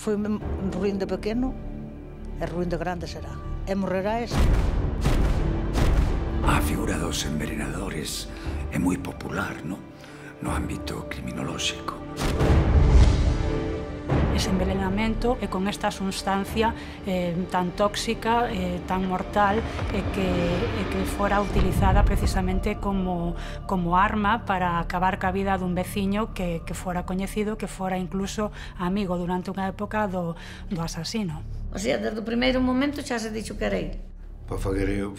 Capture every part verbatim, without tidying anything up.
foi ruín de pequeno e ruín de grande será. E morrerá ese. A figura dos envenenadores é moi popular, no, no ámbito criminolóxico. Ese envenenamento e con esta sustancia eh, tan tóxica, eh, tan mortal, e eh, que, eh, que fora utilizada precisamente como, como arma para acabar ca vida dun veciño que, que fora coñecido, que fora incluso amigo durante unha época do, do asasino. O sea, desde o primeiro momento xa se dixo que era ele. Para fazer o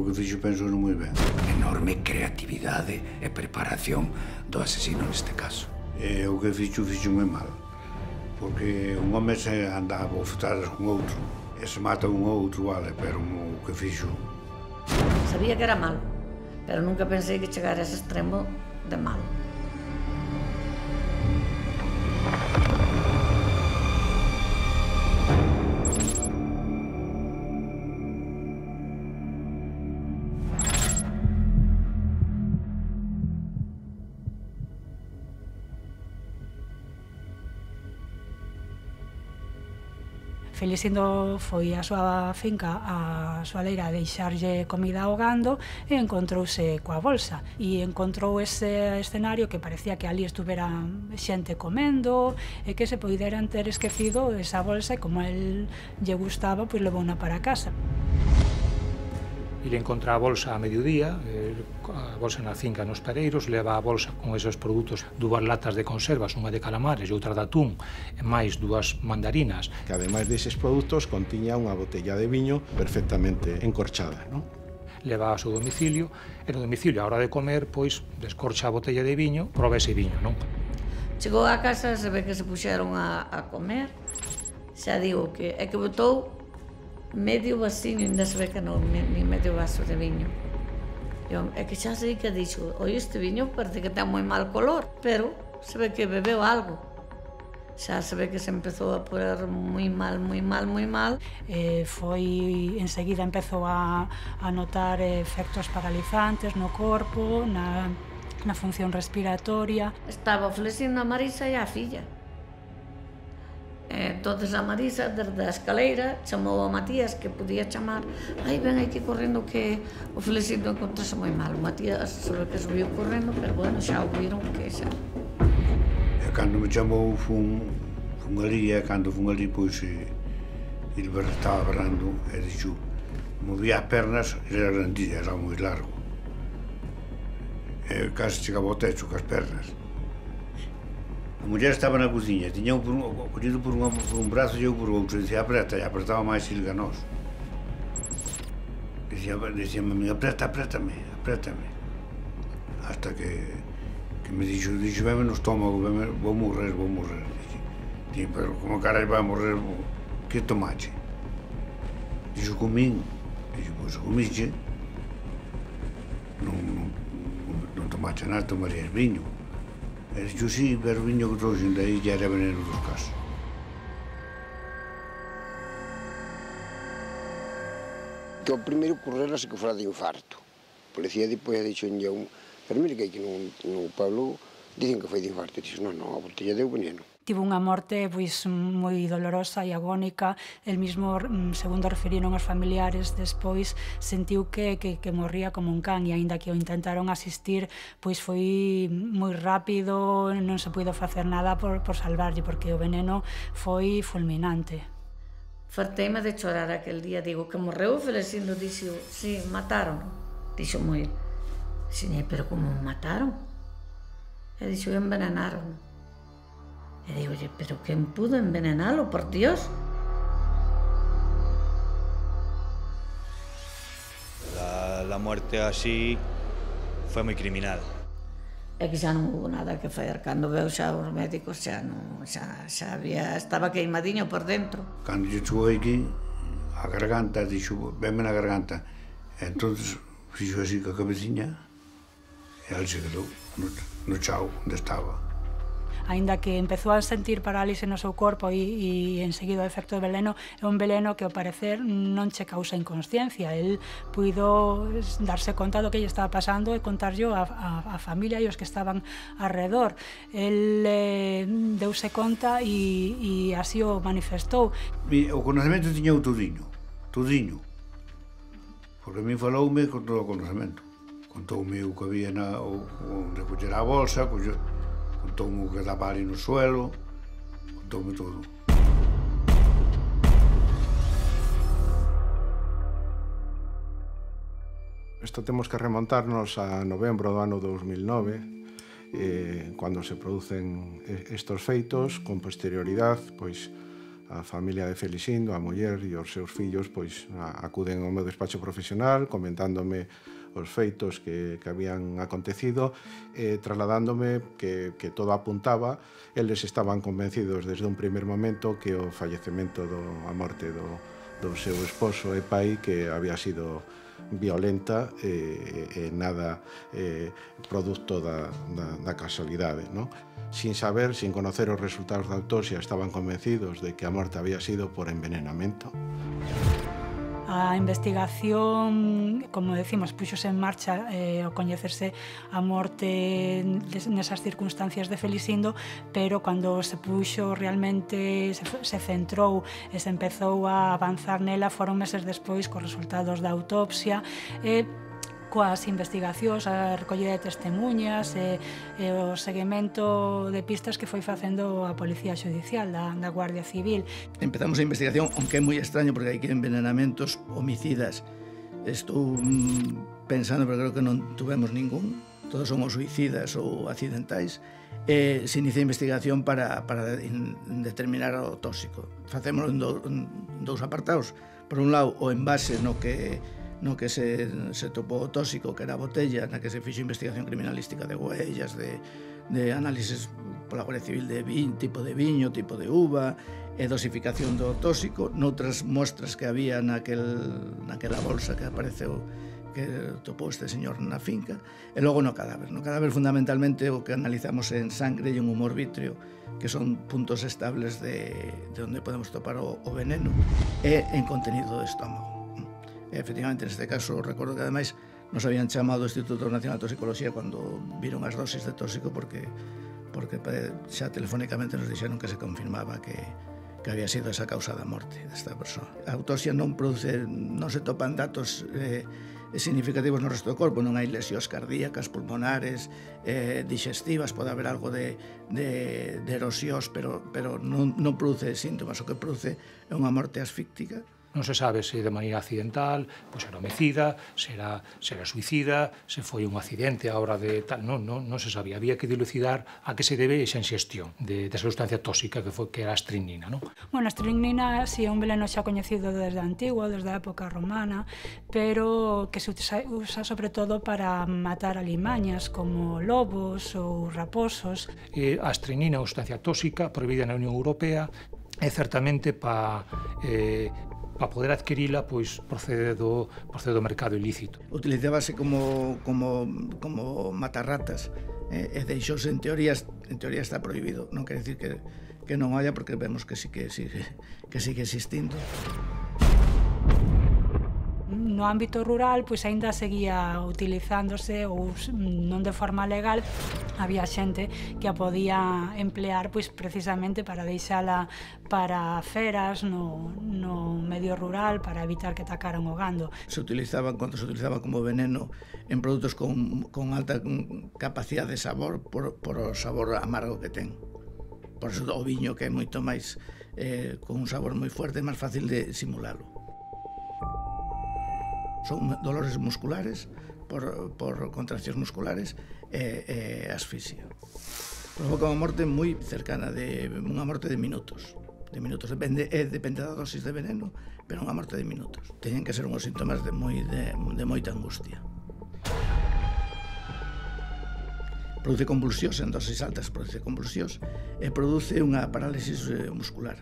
que fixo, penso moi ben. Enorme creatividade e preparación do asesino neste caso. E o que fixo, fixo moi mal. Porque un home se anda a bofetadas con outro, e se mata un outro, vale, pero o que fixo... Sabía que era malo, pero nunca pensei que chegara a ese extremo de malo. Felicindo foi á súa finca, á súa leira, a deixarlle comida ao gando e encontrouse coa bolsa. E encontrou ese escenario que parecía que ali estuvera xente comendo e que se poideran ter esquecido esa bolsa e como a él lle gustaba, pois levouna para casa. Ele encontra a bolsa a mediodía, a bolsa na finca nos Pereiros, leva a bolsa con esos produtos, dúas latas de conservas, unha de calamares e outra de atún, e máis dúas mandarinas. Que ademais deses produtos contiña unha botella de viño perfectamente encorchada, non? Leva ao seu domicilio, e no domicilio, a hora de comer, pois, descorcha a botella de viño, proba ese viño, non? Chegou á casa, se ve que se puxeron a, a comer, xa digo que é que botou medio vasiño, ainda se ve que non, ni medio vaso de viño. Eu, é que xa sei que dixo, oi, este viño parece que ten moi mal color, pero se ve que bebeu algo. Xa se ve que se empezou a poner moi mal, moi mal, moi mal. Eh, foi, enseguida empezou a, a notar efectos paralizantes no corpo, na, na función respiratoria. Estaba ofrecindo a Marisa e a filla. Entonces a Marisa, desde a escaleira, chamou a Matías, que podía chamar. Ai, ven aquí correndo que o Felicito encontrase moi mal. O Matías se ve que subiu correndo, pero bueno, xa o viron que xa. E cando me chamou, fun, fun ali, e cando fun ali, pois, ele estaba berrando, e dixo, movía as pernas, era grandilla, era moi largo. E casi chegaba ao techo cas pernas. A muller estaba na cociña, tiña un, collido por, unha, por un brazo e eu por outro, e dicía apreta, e apretaba máis Silganos. Dicía, dicía a mí, apreta, aprétame, aprétame. Hasta que, que me dixo, dixo, veme no estómago, veme, vou morrer, vou morrer. Dixo, pero como carai vai morrer, que tomache? Dixo, comín. Dixo, pois comíche. Non, non, non tomache nada, tomarías viño. E dixo, sí, pero viño que trouxen daí ya era veneno dos casos. Que o primeiro correrase que fora de infarto. A policía depois ha dixo en un, pero mire que aquí no, no pueblo dicen que foi de infarto. E dixo, non, non, a botella deu veneno. Tivo unha morte pois moi dolorosa e agónica. El mismo, segundo referiron os familiares, despois sentiu que, que, que morría como un can, e aínda que o intentaron asistir, pois foi moi rápido, non se puido facer nada por, por salvarlle, porque o veneno foi fulminante. Farteime de chorar aquel día, digo, que morreu o Felicindo, dixo, sí, mataron. Dixo moi, dixo, pero como mataron? E dixo, envenenaron. E digo, pero quen pudo envenenalo, por Dios? La, la muerte así foi moi criminal. É que xa non hubo nada que fazer. Cando veu xa os médicos xa non, xa, xa había, estaba queimadiño por dentro. Cando lle chegou aquí, a garganta, dixo, venme na garganta. E entonces fixo así ca cabeciña e ele se quedou no, no chao onde estaba. Aínda que empezou a sentir parálise no seu corpo e, e enseguida o efecto do veleno, é un veleno que ao parecer non che causa inconsciencia. El puido darse conta do que lle estaba pasando e contarllo a, a, a familia e os que estaban alrededor. El eh, deuse conta e, e así o manifestou. O conocemento tiña o tudiño, tudiño. Porque a mí faloume con todo o conocemento. Contoume o que había na, o, onde coller a bolsa, coller, contoume o que daba ali no suelo, contoume todo. Isto temos que remontarnos a novembro do ano dous mil nove, eh, cando se producen estos feitos, con posterioridade, pois, a familia de Felicindo, a muller e os seus fillos, pois, acuden ao meu despacho profesional, comentándome os feitos que, que habían acontecido, eh, trasladándome que, que todo apuntaba. Eles estaban convencidos desde un primer momento que o fallecemento, do, a morte do, do seu esposo e pai, que había sido violenta e eh, eh, nada eh, producto da, da, da casualidade, non? Sin saber, sin conocer os resultados da autopsia, estaban convencidos de que a morte había sido por envenenamento. A investigación, como decimos, puxose en marcha eh, ao coñecerse a morte nesas circunstancias de Felicindo, pero cando se puxo realmente, se, se centrou e se empezou a avanzar nela, foron meses despois cos resultados da autopsia, e coas investigacións, a recollida de testemunhas e, e o seguimento de pistas que foi facendo a Policía Xudicial da, da Guardia Civil. Empezamos a investigación, aunque é moi extraño porque hai que envenenamentos homicidas. Estou mm, pensando, pero creo que non tuvemos ningún. Todos somos suicidas ou accidentais. E se inicia a investigación para, para in, determinar o tóxico. Facémoslo en, do, en dous apartados. Por un lado, o envase no que no que se, se topou o tóxico, que era a botella, na que se fixo investigación criminalística de huellas, de, de análisis pola Guardia Civil de viño, tipo de viño, tipo de uva, e dosificación do tóxico, noutras mostras que había naquel, naquela bolsa que apareceu, que topou este señor na finca, e logo no cadáver. No cadáver, fundamentalmente, o que analizamos en sangre e en humor vítreo, que son puntos estables de, de onde podemos topar o, o veneno, e en contenido do estómago. E, efectivamente, neste caso, recordo que, ademais, nos habían chamado do Instituto Nacional de Toxicología cando viron as dosis de tóxico porque, porque xa telefónicamente nos dixeron que se confirmaba que, que había sido esa causa da morte desta persoa. A autopsia non produce, non se topan datos eh, significativos no resto do corpo, non hai lesións cardíacas, pulmonares, eh, digestivas, pode haber algo de, de, de erosións, pero, pero non, non produce síntomas. O que produce é unha morte asfíctica. Non se sabe se de maneira accidental, pois era homicida, se era, se era suicida, se foi un accidente a hora de tal, non, non, non se sabía. Había que dilucidar a que se debe esa inxestión de, de esa sustancia tóxica que foi que era a strychnina, non? Bueno, a strychnina si é un veleno xa coñecido desde antigo, desde a época romana, pero que se usa, usa sobre todo para matar alimañas como lobos ou raposos. E a strychnina é unha sustancia tóxica prohibida na Unión Europea e certamente para eh, para poder adquirila, pois procede do, procede do mercado ilícito. Utilizábase como, como, como matarratas, eh, e deixouse en teorías, en teoría está prohibido, non quere dicir que, que non haya, porque vemos que sí que sigue, que sigue existindo. No ámbito rural, pois aínda seguía utilizándose, ou non de forma legal, había xente que a podía emplear pois precisamente para deixala para feras no, no medio rural, para evitar que atacaran o gando. Se utilizaban, cando se utilizaba como veneno en produtos con, con alta capacidade de sabor por, por o sabor amargo que ten. Por eso o viño, que é moito máis eh, con un sabor moi fuerte, é máis fácil de simulalo. Son dolores musculares por, por contraccións musculares e, e asfixia. Provoca unha morte moi cercana, de unha morte de minutos. De minutos, depende, é, depende da dosis de veneno, pero unha morte de minutos. Teñen que ser unhos síntomas de, moi, de, de moita angustia. Produce convulsións en dosis altas, produce convulsións e produce unha parálisis muscular.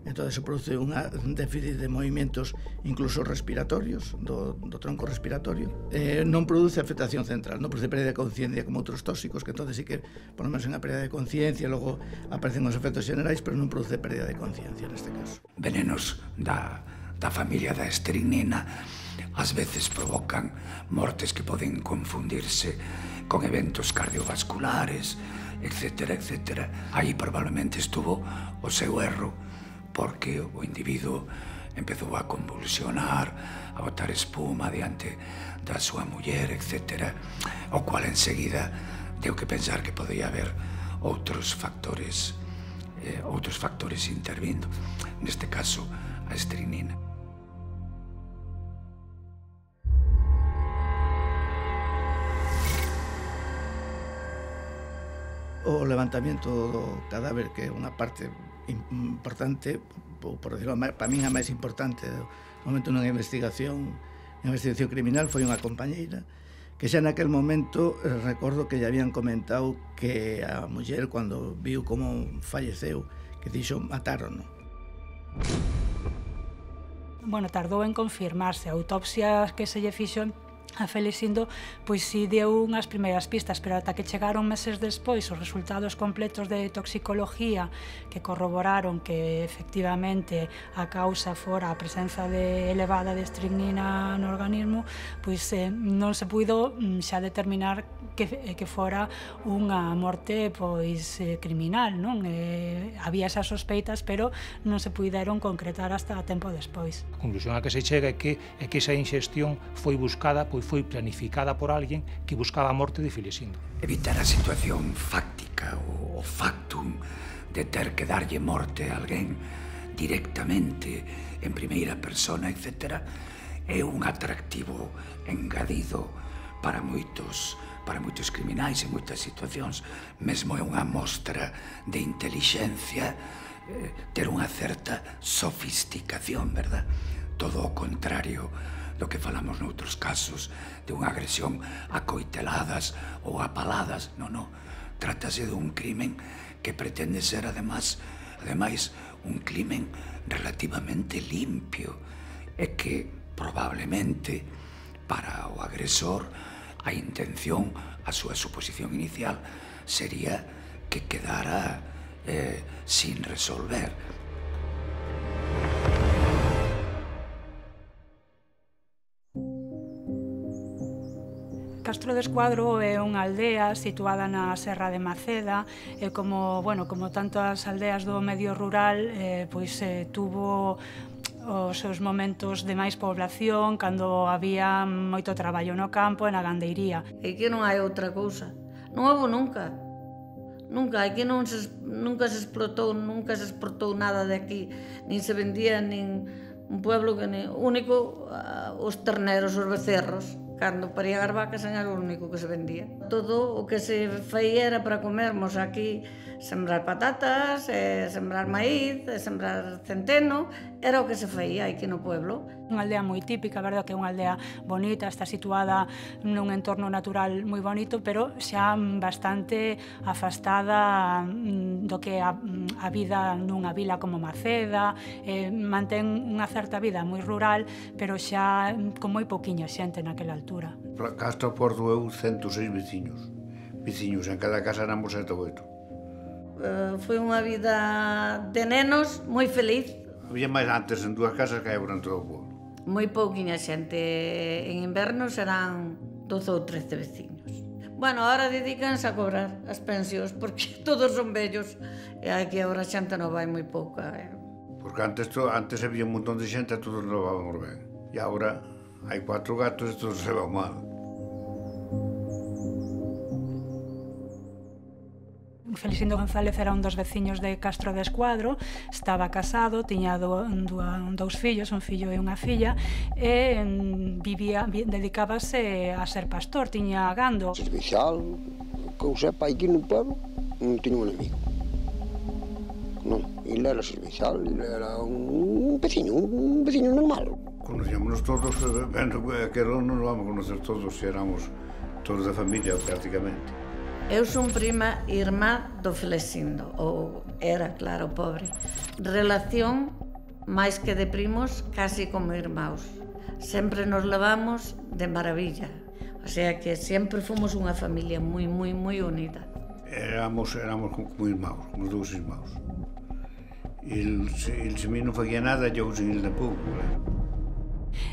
entón se produce un déficit de movimentos incluso respiratorios, do, do tronco respiratorio. Eh, non produce afectación central, non produce pérdida de conciencia como outros tóxicos, que entón sí que, por lo menos, unha pérdida de conciencia, logo aparecen os efectos generais, pero non produce pérdida de conciencia neste caso. Venenos da, da familia da estrinina ás veces provocan mortes que poden confundirse con eventos cardiovasculares, etcétera, etcétera. Aí probablemente estuvo o seu erro, porque o individuo empezou a convulsionar, a botar espuma diante da súa muller, etcétera, o cual enseguida deu que pensar que podía haber outros factores, eh, outros factores intervindo, neste caso a estrinina. O levantamento do cadáver, que é unha parte importante, por decirlo, para min a máis importante do momento nunha investigación, unha investigación criminal, foi unha compañeira que xa naquel momento eh, recordo que lle habían comentado que a muller, cando viu como falleceu, que dixo mataron, non? Bueno, tardou en confirmarse. A autopsia que se lle fixo a Felicindo, pois si deu unhas primeiras pistas, pero ata que chegaron meses despois os resultados completos de toxicología que corroboraron que efectivamente a causa fora a presenza de elevada de estrinina no organismo, pois eh, non se puido xa determinar que, que fora unha morte pois eh, criminal, non? Eh, había esas sospeitas, pero non se puideron concretar hasta tempo despois. A conclusión a que se chega é que, é que esa inxestión foi buscada, pois foi planificada por alguén que buscaba a morte de Felicindo. Evitar a situación fáctica ou o factum de ter que darlle morte a alguén directamente, en primeira persona, etcétera, é un atractivo engadido para moitos, para moitos criminais en moitas situacións. Mesmo é unha mostra de intelixencia, eh, ter unha certa sofisticación, verdad? Todo o contrario do que falamos noutros casos de unha agresión a coiteladas ou a paladas. Non, non. Trátase dun crimen que pretende ser, además, ademais, un crimen relativamente limpio e que, probablemente, para o agresor, a intención, a súa suposición inicial, sería que quedara eh, sin resolver. Castro de Escuadro é unha aldea situada na Serra de Maceda e como, bueno, como tantas aldeas do medio rural, eh, pois eh, tuvo os seus momentos de máis población cando había moito traballo no campo e na gandeiría. E que non hai outra cousa. Non houve nunca. Nunca, aquí non se, nunca se explotou, nunca se exportou nada de aquí, nin se vendía, nin un pueblo que ni, único, uh, os terneros, os becerros. Cando parían as vacas era o único que se vendía. Todo o que se feía era para comermos aquí, sembrar patatas, eh, sembrar maíz, eh, sembrar centeno, era o que se feía aquí no pueblo. Unha aldea moi típica, verdad, que é unha aldea bonita, está situada nun entorno natural moi bonito, pero xa bastante afastada do que a, a vida nunha vila como Maceda, eh, mantén unha certa vida moi rural, pero xa con moi pouquiña xente naquela altura. Castro Porto eu ciento seis veciños. Veciños, en cada casa éramos sete ou oito. Uh, foi unha vida de nenos moi feliz. Había máis antes en dúas casas que hai por todo o pueblo. Moi pouquiña xente. En inverno serán doce ou trece veciños. Bueno, ahora dedícanse a cobrar as pensións porque todos son vellos e aquí agora a xente non vai moi pouca. Eh? Porque antes, to, antes había un montón de xente e todos non vábamos ben. E agora hai cuatro gatos e todos se van mal. Felicindo González era un dos veciños de Castro de Escuadro, estaba casado, tiña do, do, dous fillos, un fillo e unha filla, e vivía, dedicábase a ser pastor, tiña gando. Servicial, que eu sepa, aquí no pueblo non tiña un amigo. Non, ele era servicial, ele era un veciño, un veciño normal. Conocíamonos todos, ben, que non nos vamos a conocer todos, se éramos todos da familia prácticamente. Eu son prima irmá do Felesindo, ou era, claro, pobre. Relación, máis que de primos, casi como irmãos. Sempre nos levamos de maravilla. O sea que sempre fomos unha familia moi, moi, moi unida. Éramos, éramos como irmãos, como dous irmãos. El, el se mí non facía nada, eu sen el tampouco, claro.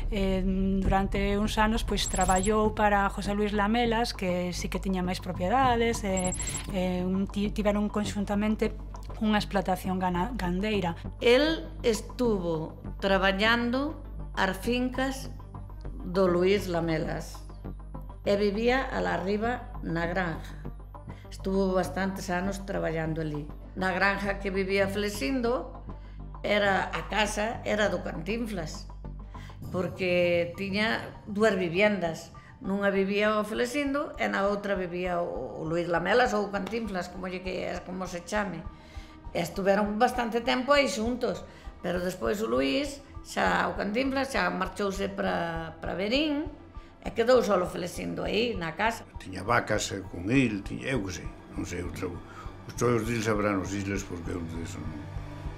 Eh, durante uns anos pois traballou para José Luis Lamelas, que sí que tiña máis propiedades, e eh, eh, tiveron conxuntamente unha explotación gana, gandeira. El estuvo traballando as fincas do Luis Lamelas e vivía alá arriba na granja. Estuvo bastantes anos traballando ali. Na granja que vivía Felesindo, era a casa era do Cantinflas, porque tiña dúas viviendas. Nunha vivía o Felesindo e na outra vivía o Luis Lamelas ou o Cantinflas, como, lle que, como se chame. E estuveron bastante tempo aí xuntos, pero despois o Luis, xa o Cantinflas, xa marchouse para, para Verín e quedou só o Felesindo aí na casa. Tiña vacas con il, tiña, eu que sei, non sei, outro, os toios dil sabrán os isles porque eu diso non.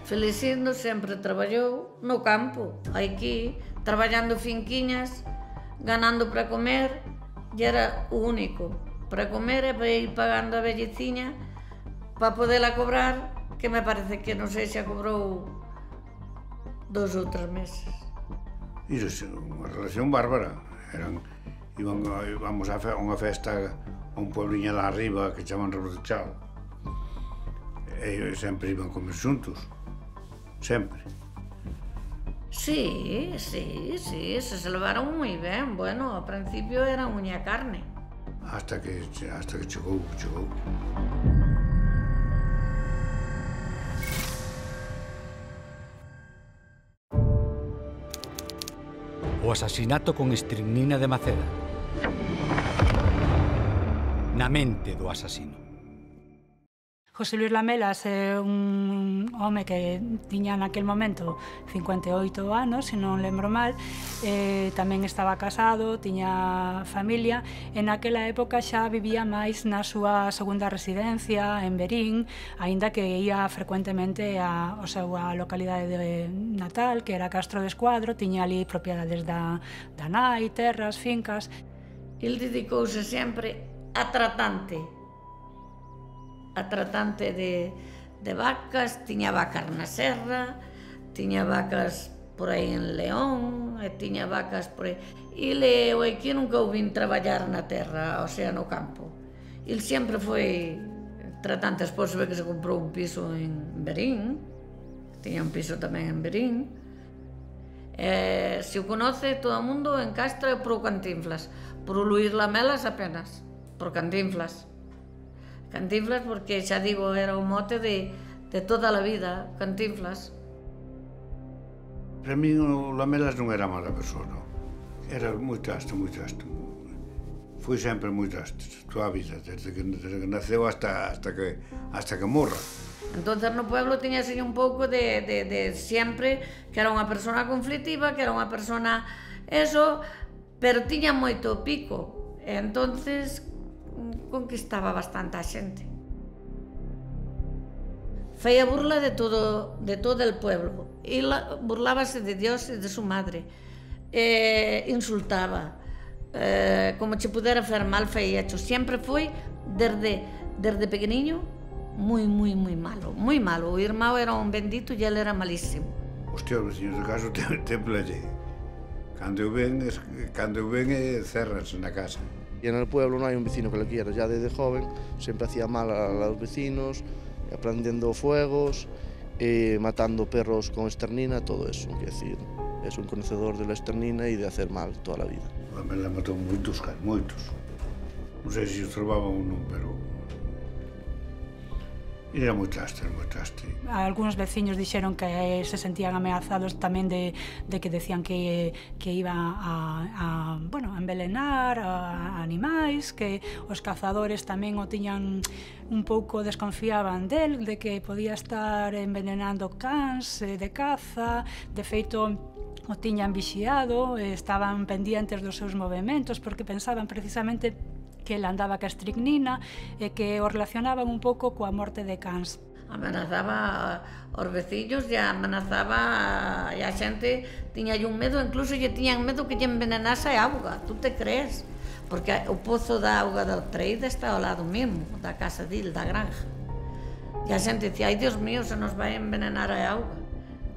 Felesindo sempre traballou no campo, aquí, traballando finquiñas, ganando para comer, e era o único. Para comer e para ir pagando a velleciña, para podela cobrar, que me parece que non sei se a cobrou dos ou tres meses. Iso é unha relación bárbara. Eran, iban, íbamos a unha festa a un puebliño lá arriba que chaman Rebotechado. E sempre iban comer xuntos. Sempre. Sí, sí, sí, se se levaron moi ben. Bueno, ao principio era uña carne. Hasta que, hasta que chegou, chegou. O asasinato con estricnina de Maceda. Na mente do asasino. José Luis Lamelas é un home que tiña naquel momento cincuenta e oito anos, se non lembro mal, e tamén estaba casado, tiña familia, e naquela época xa vivía máis na súa segunda residencia en Verín, aínda que ia frecuentemente á súa localidade de natal, que era Castro de Escuadro, tiña ali propiedades da, da nai, terras, fincas. El dedicouse sempre a tratante, a tratante de, de vacas, tiña vacas na serra, tiña vacas por aí en León, e tiña vacas por aí. Il e o aquí nunca o vin traballar na terra, o sea, no campo. Il sempre foi tratante, despois se ve que se comprou un piso en Verín, tiña un piso tamén en Verín. Eh, se o conoce todo o mundo en Castro é por o Cantinflas, por o Luis Lamelas apenas, por Cantinflas. Cantinflas porque, xa digo, era o mote de, de toda a vida, Cantinflas. Para mí o Lamelas non era mala persona, era moi traste, moi traste. Foi sempre moi traste, toda a vida, desde que, desde que naceu hasta, hasta, que, hasta que morra. Entonces no pueblo tiña así un pouco de, de, de sempre que era unha persona conflictiva, que era unha persona eso, pero tiña moito pico, e entonces conquistaba bastante a xente. Feia burla de todo, de todo el pueblo. E burlábase de Dios e de su madre. Eh, insultaba. Eh, como che pudera fer mal, feia hecho. Sempre foi, desde, desde pequeniño, moi, moi, moi malo. Moi malo. O irmão era un bendito e ele era malísimo. Hostia, os veciños de caso te, te plalle. Cando eu ven, cando eu ven, cerras na casa. Y en el pueblo no hay un vecino que le quiera. Ya desde joven siempre hacía mal a los vecinos, prendiendo fuegos, eh, matando perros con esternina, todo eso. Es decir, es un conocedor de la esternina y de hacer mal toda la vida. Me la matou moitos, moitos. Non sei se os trovaban ou non, pero era moi traste, moi traste. Algunos veciños dixeron que se sentían ameazados tamén de, de que decían que, que iba a, a, bueno, a envelenar a animais, que os cazadores tamén o tiñan un pouco, desconfiaban del, de que podía estar envenenando cans de caza. De feito, o tiñan vixiado, estaban pendientes dos seus movimentos porque pensaban precisamente que ele andaba ca estricnina e que o relacionaban un pouco coa morte de cans. Amenazaba aos veciños e amenazaba e a xente tiña un medo, incluso lle tiñan medo que lle envenenase a auga, tú te crees? Porque o pozo da auga da Treida está ao lado mesmo, da casa dil, da granja. E a xente dicía, ai Dios mío, se nos vai envenenar a auga,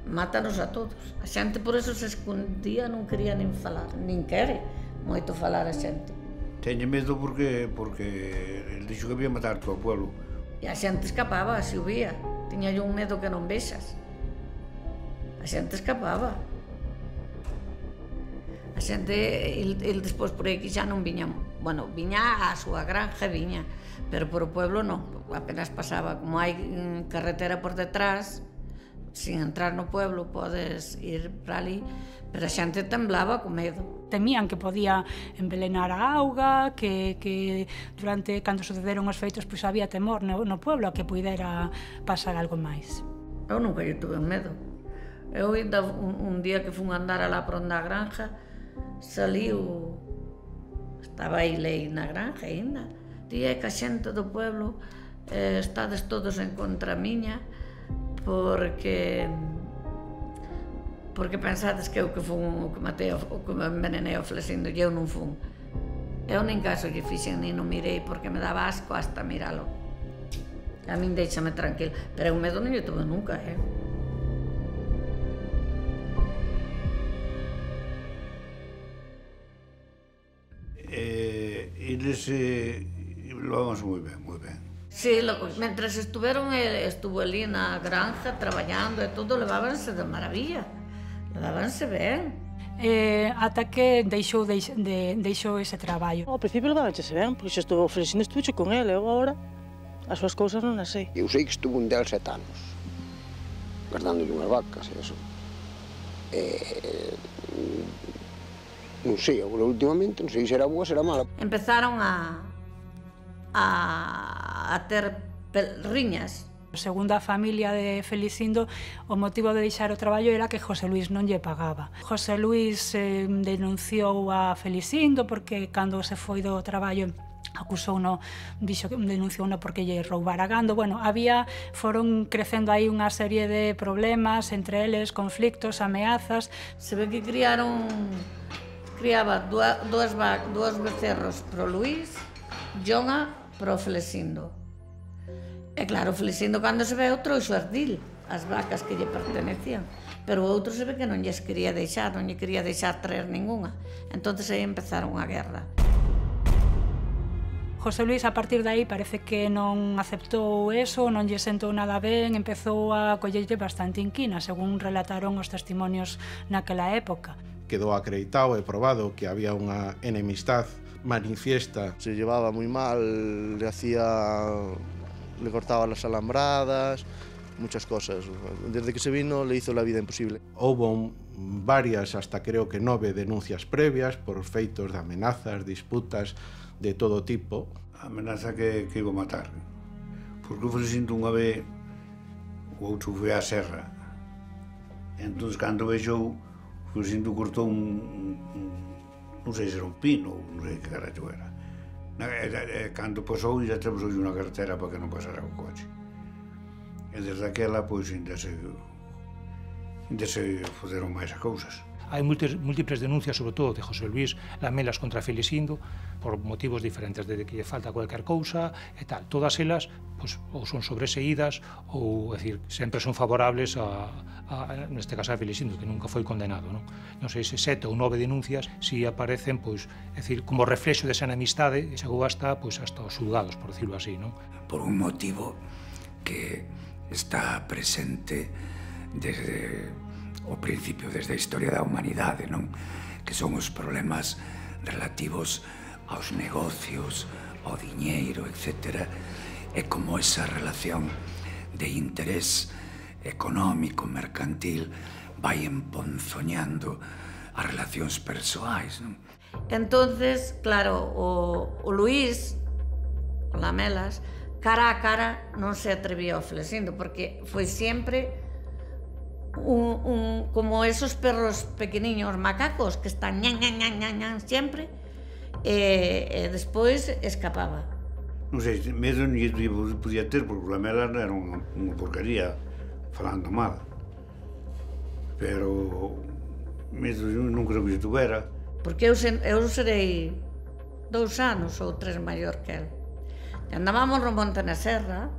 mátanos a todos. A xente por eso se escondía, non quería nin falar, nin quere moito falar a xente. Teñe medo porque, porque el dixo que había matar todo o pueblo. E a xente escapaba, se o vía. Tiña un medo que non vexas. A xente escapaba. A xente, el, el despois por aí que xa non viña, bueno, viña a súa granja, viña, pero por o pueblo non, apenas pasaba. Como hai carretera por detrás, sin entrar no pueblo, podes ir para ali, pero a xente temblaba con medo. Temían que podía envelenar a auga, que, que durante, cando sucederon os feitos, pois había temor no, no pueblo a que pudera pasar algo máis. Eu nunca lle tuve medo. Eu ainda un, un día que fun andar alá por onde a granja, saliu, estaba aí lei na granja ainda, día que a xente do pueblo eh, estades todos en contra miña, porque porque pensades que eu que fun o que matei o que me envenenei o Flesindo e eu non fun. Eu nin caso lle fixen nin non mirei porque me daba asco hasta miralo. A min deixame tranquilo, pero eu medo non lle tuve nunca, eh? Eh, eles eh, lo vamos moi ben, moi ben. Sí, lo, mentres estuveron, estuvo ali na granja traballando e todo, levábanse de maravilla, levábanse ben. Eh, ata que deixou, deix, de, deixou ese traballo. Ao principio levábanse ben, porque xa estuvo Flesindo, estuve con ele, eu agora as súas cousas non as sei. Eu sei que estuvo un del sete anos, guardando unhas vacas e eso. Eh, non sei, agora últimamente, non sei se era boa, se era mala. Empezaron a a, a ter riñas. Segundo a familia de Felicindo, o motivo de deixar o traballo era que José Luis non lle pagaba. José Luis eh, denunciou a Felicindo porque cando se foi do traballo acusouno, dixo que denunciouno porque lle roubara gando. Bueno, había, foron crecendo aí unha serie de problemas, entre eles conflictos, ameazas. Se ve que criaron, criaba dúas, dúas becerros pro Luis, Jonga pro Flesindo. E claro, Flesindo cando se veu trouxo ardil, as vacas que lle pertenecían, pero o outro se ve que non lles quería deixar, non lle quería deixar traer ninguna. Entonces aí empezaron a guerra. José Luis, a partir de aí, parece que non aceptou eso, non lle sentou nada ben, empezou a collelle bastante inquina, según relataron os testimonios naquela época. Quedou acreditado e probado que había unha enemistad manifiesta. Se llevaba muy mal, le hacía, le cortaba las alambradas, muchas cosas. Desde que se vino le hizo la vida imposible. Houbo varias, hasta creo que nove denuncias previas por feitos de amenazas, disputas de todo tipo. A amenaza que, que iba a matar, porque o Flesindo unha vez o outro foi á serra. Entón, cando vexou, o Flesindo cortou un, un non sei se era un pino, non sei que carallo era. E, cando pasou, já atravesou unha carretera para que non pasara o coche. E desde aquela, pois, ainda se, ainda se foderon máis as cousas. Hai múltiples denuncias, sobre todo de José Luis Lamelas contra Felicindo, por motivos diferentes, de que lle falta cualquier cousa e tal. Todas elas, pois, ou son sobreseídas, ou, é dicir, sempre son favorables a, a, neste caso, a Felicindo, que nunca foi condenado, non? Non sei se sete ou nove denuncias si aparecen, pois, é dicir, como reflexo desa enemistade, e chegou hasta, pois, hasta os xulgados, por decirlo así, non? Por un motivo que está presente desde o principio, desde a historia da humanidade, non? Que son os problemas relativos aos negocios, ao diñeiro, etcétera, e como esa relación de interés económico, mercantil, vai emponzoñando as relacións persoais, non? Entonces, claro, o, o Luís, o Lamelas, cara a cara non se atrevía ao Flesindo, porque foi sempre un, un, como esos perros pequeniños macacos que están ñan, ñan, ñan, ñan, ñan, sempre, e, e despois escapaba. Non sei, medo non lle podía ter, porque o Lamela era unha, unha porcaría, falando mal. Pero medo non creo que se tuvera. Porque eu, sen, eu serei dous anos ou tres maior que el. E andábamos no monte na serra,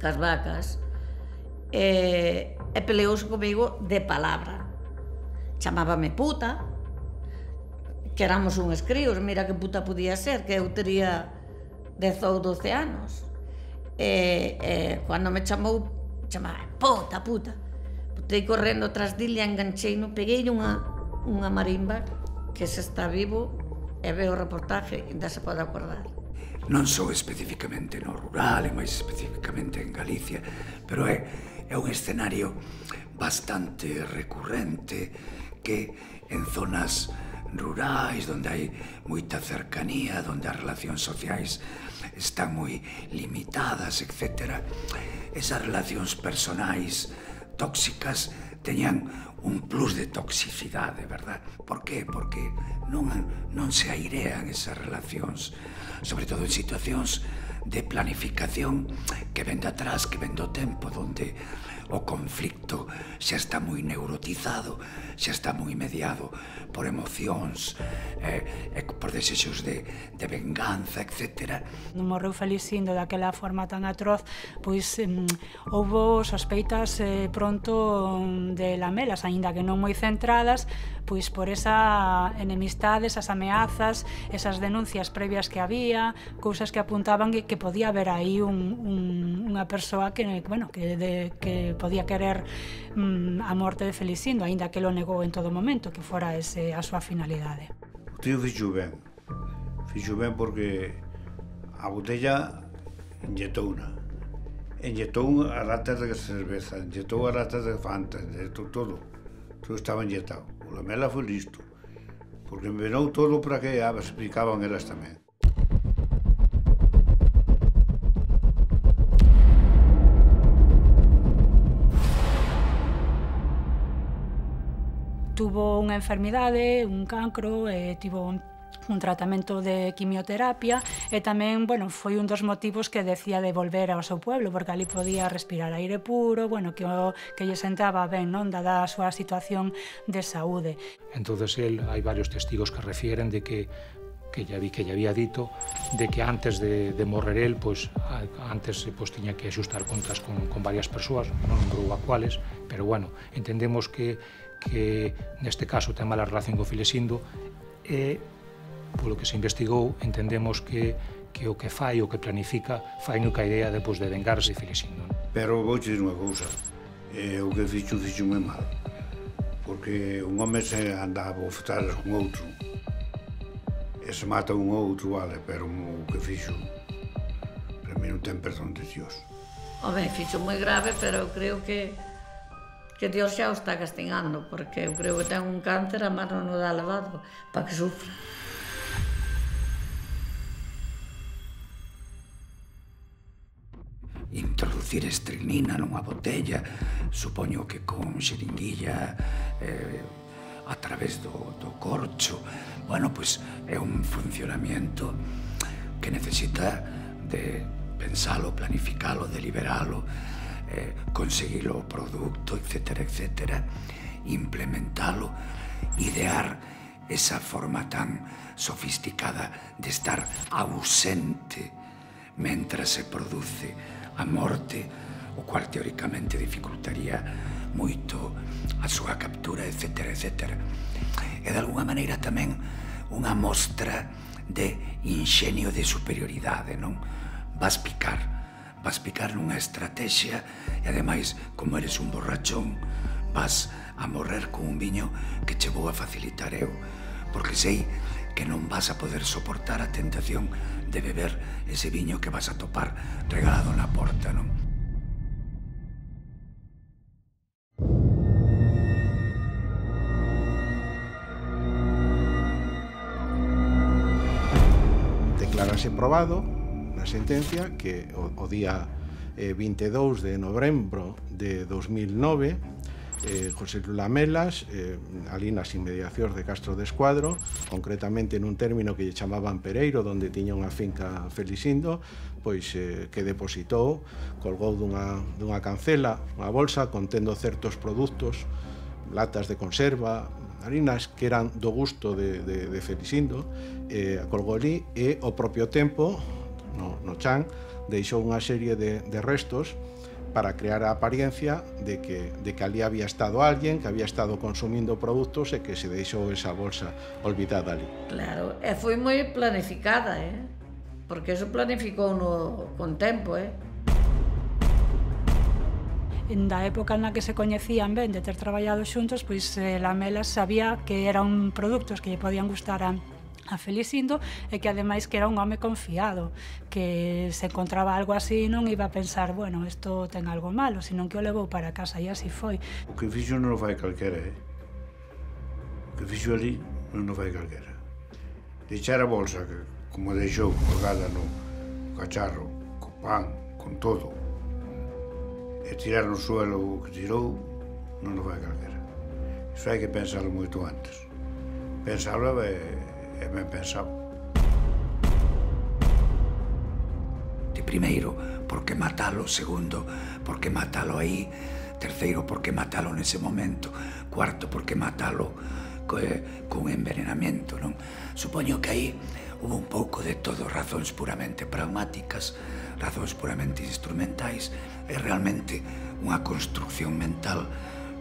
cas vacas, e, e peleouse comigo de palabra. Chamábame puta, que éramos uns críos, mira que puta podía ser, que eu tería dez ou doce anos. E, e cando me chamou, chamaba puta, puta. Botei correndo tras dille, enganchei, no peguei unha, unha marimba que se está vivo e veo o reportaje e ainda se pode acordar. Non só especificamente no rural, e máis especificamente en Galicia, pero é, é un escenario bastante recurrente que en zonas rurais, onde hai moita cercanía, onde as relacións sociais están moi limitadas, etcétera, esas relacións personais tóxicas teñan un plus de toxicidade, verdad? Por qué? Porque non, non se airean esas relacións, sobre todo en situacións de planificación que ven de atrás, que ven do tempo, onde o conflicto xa está moi neurotizado, xa está moi mediado por emocións, eh, eh, por desexos de, de venganza, etcétera. Non morreu Felicindo daquela forma tan atroz, pois eh, houbo sospeitas eh, pronto de lamelas, aínda que non moi centradas, pois por esa enemistade, esas ameazas, esas denuncias previas que había, cousas que apuntaban que, que podía haber aí un, un, unha persoa que, bueno, que, de, que podía querer mm, a morte de Felicindo, aínda que lo negou en todo momento, que fora ese a súa finalidade. O tío fixo ben, fixo ben porque a botella inyetouna, inyectou a latas de cerveza, inyectou a latas de Fanta, inyectou todo, todo estaba inyectado. O Lamela foi listo, porque envenou todo para que a explicaban elas tamén. Tuvo unha enfermidade, un cancro, e tivo un, un tratamento de quimioterapia e tamén, bueno, foi un dos motivos que decía de volver ao seu pueblo, porque ali podía respirar aire puro, bueno, que, o, que lle sentaba ben, non, dada a súa situación de saúde. Entonces, el, hai varios testigos que refieren de que que ya vi que ya había dito de que antes de, de morrer el, pues antes pues tiña que axustar contas con, con varias persoas, non lembro a cuales, pero bueno, entendemos que que neste caso ten mala relación con Felicindo e polo que se investigou entendemos que, que o que fai, o que planifica fai no que a idea depois de vengarse de Felicindo. Pero vou te dir unha cousa, eh, o que fixo, fixo moi mal, porque un home se andaba a bofetadas con outro e se mata un outro, vale, pero o que fixo para mí non ten perdón de Dios. Home, fixo moi grave, pero eu creo que que Dios xa o está castigando, porque eu creo que ten un cáncer, a mano non dá levado para que sufra. Introducir estricnina nunha botella, supoño que con xeringuilla, eh, a través do, do corcho, bueno, pois é un funcionamiento que necesita de pensalo, planificalo, deliberalo, Eh, conseguilo o produto, etcétera, etcétera, implementalo, idear esa forma tan sofisticada de estar ausente mentras se produce a morte, o cual teóricamente dificultaría moito a súa captura, etcétera, etcétera. E de alguna maneira tamén unha mostra de inxenio de superioridade, non? Vas picar vas picar nunha estrategia e, ademais, como eres un borrachón, vas a morrer con un viño que che vou a facilitar eu, porque sei que non vas a poder soportar a tentación de beber ese viño que vas a topar regalado na porta, non? Declarase probado na sentencia que o, o día eh, vinte e dous de novembro de dos mil nove eh, José Luis Lamelas, eh, ali nas inmediacións de Castro de Escuadro, concretamente nun término que lle chamaban Pereiro, onde tiña unha finca Felisindo, pois eh, que depositou, colgou dunha, dunha cancela, unha bolsa contendo certos produtos, latas de conserva, harinas que eran do gusto de, de, de Felisindo, eh, colgou ali e ao propio tempo, no, no chan, deixou unha serie de, de restos para crear a apariencia de que, de que ali había estado alguén que había estado consumindo produtos e que se deixou esa bolsa olvidada ali. Claro, e foi moi planificada, eh? Porque eso planificou no, con tempo, eh? Da época na que se coñecían ben de ter traballado xuntos, pois eh, Lamelas sabía que eran produtos que lle podían gustar a a Felisindo e que ademais que era un home confiado, que se encontraba algo así non iba a pensar, bueno, isto ten algo malo, senón que o levou para casa e así foi. O que fixo non o fai calquera, eh? O que fixo ali non o fai calquera. Deixar a bolsa, que, como deixou colgada no cacharro, con pan, con todo, e tirar no suelo o que tirou, non o fai calquera. Iso hai que pensarlo moito antes. Pensarlo e e ben pensado. De primeiro, por que matalo? Segundo, por que matalo aí? Terceiro, por que matalo nese momento? Cuarto, por que matalo co, con envenenamento, non? Supoño que aí hubo un pouco de todo, razóns puramente pragmáticas, razóns puramente instrumentais, e realmente unha construcción mental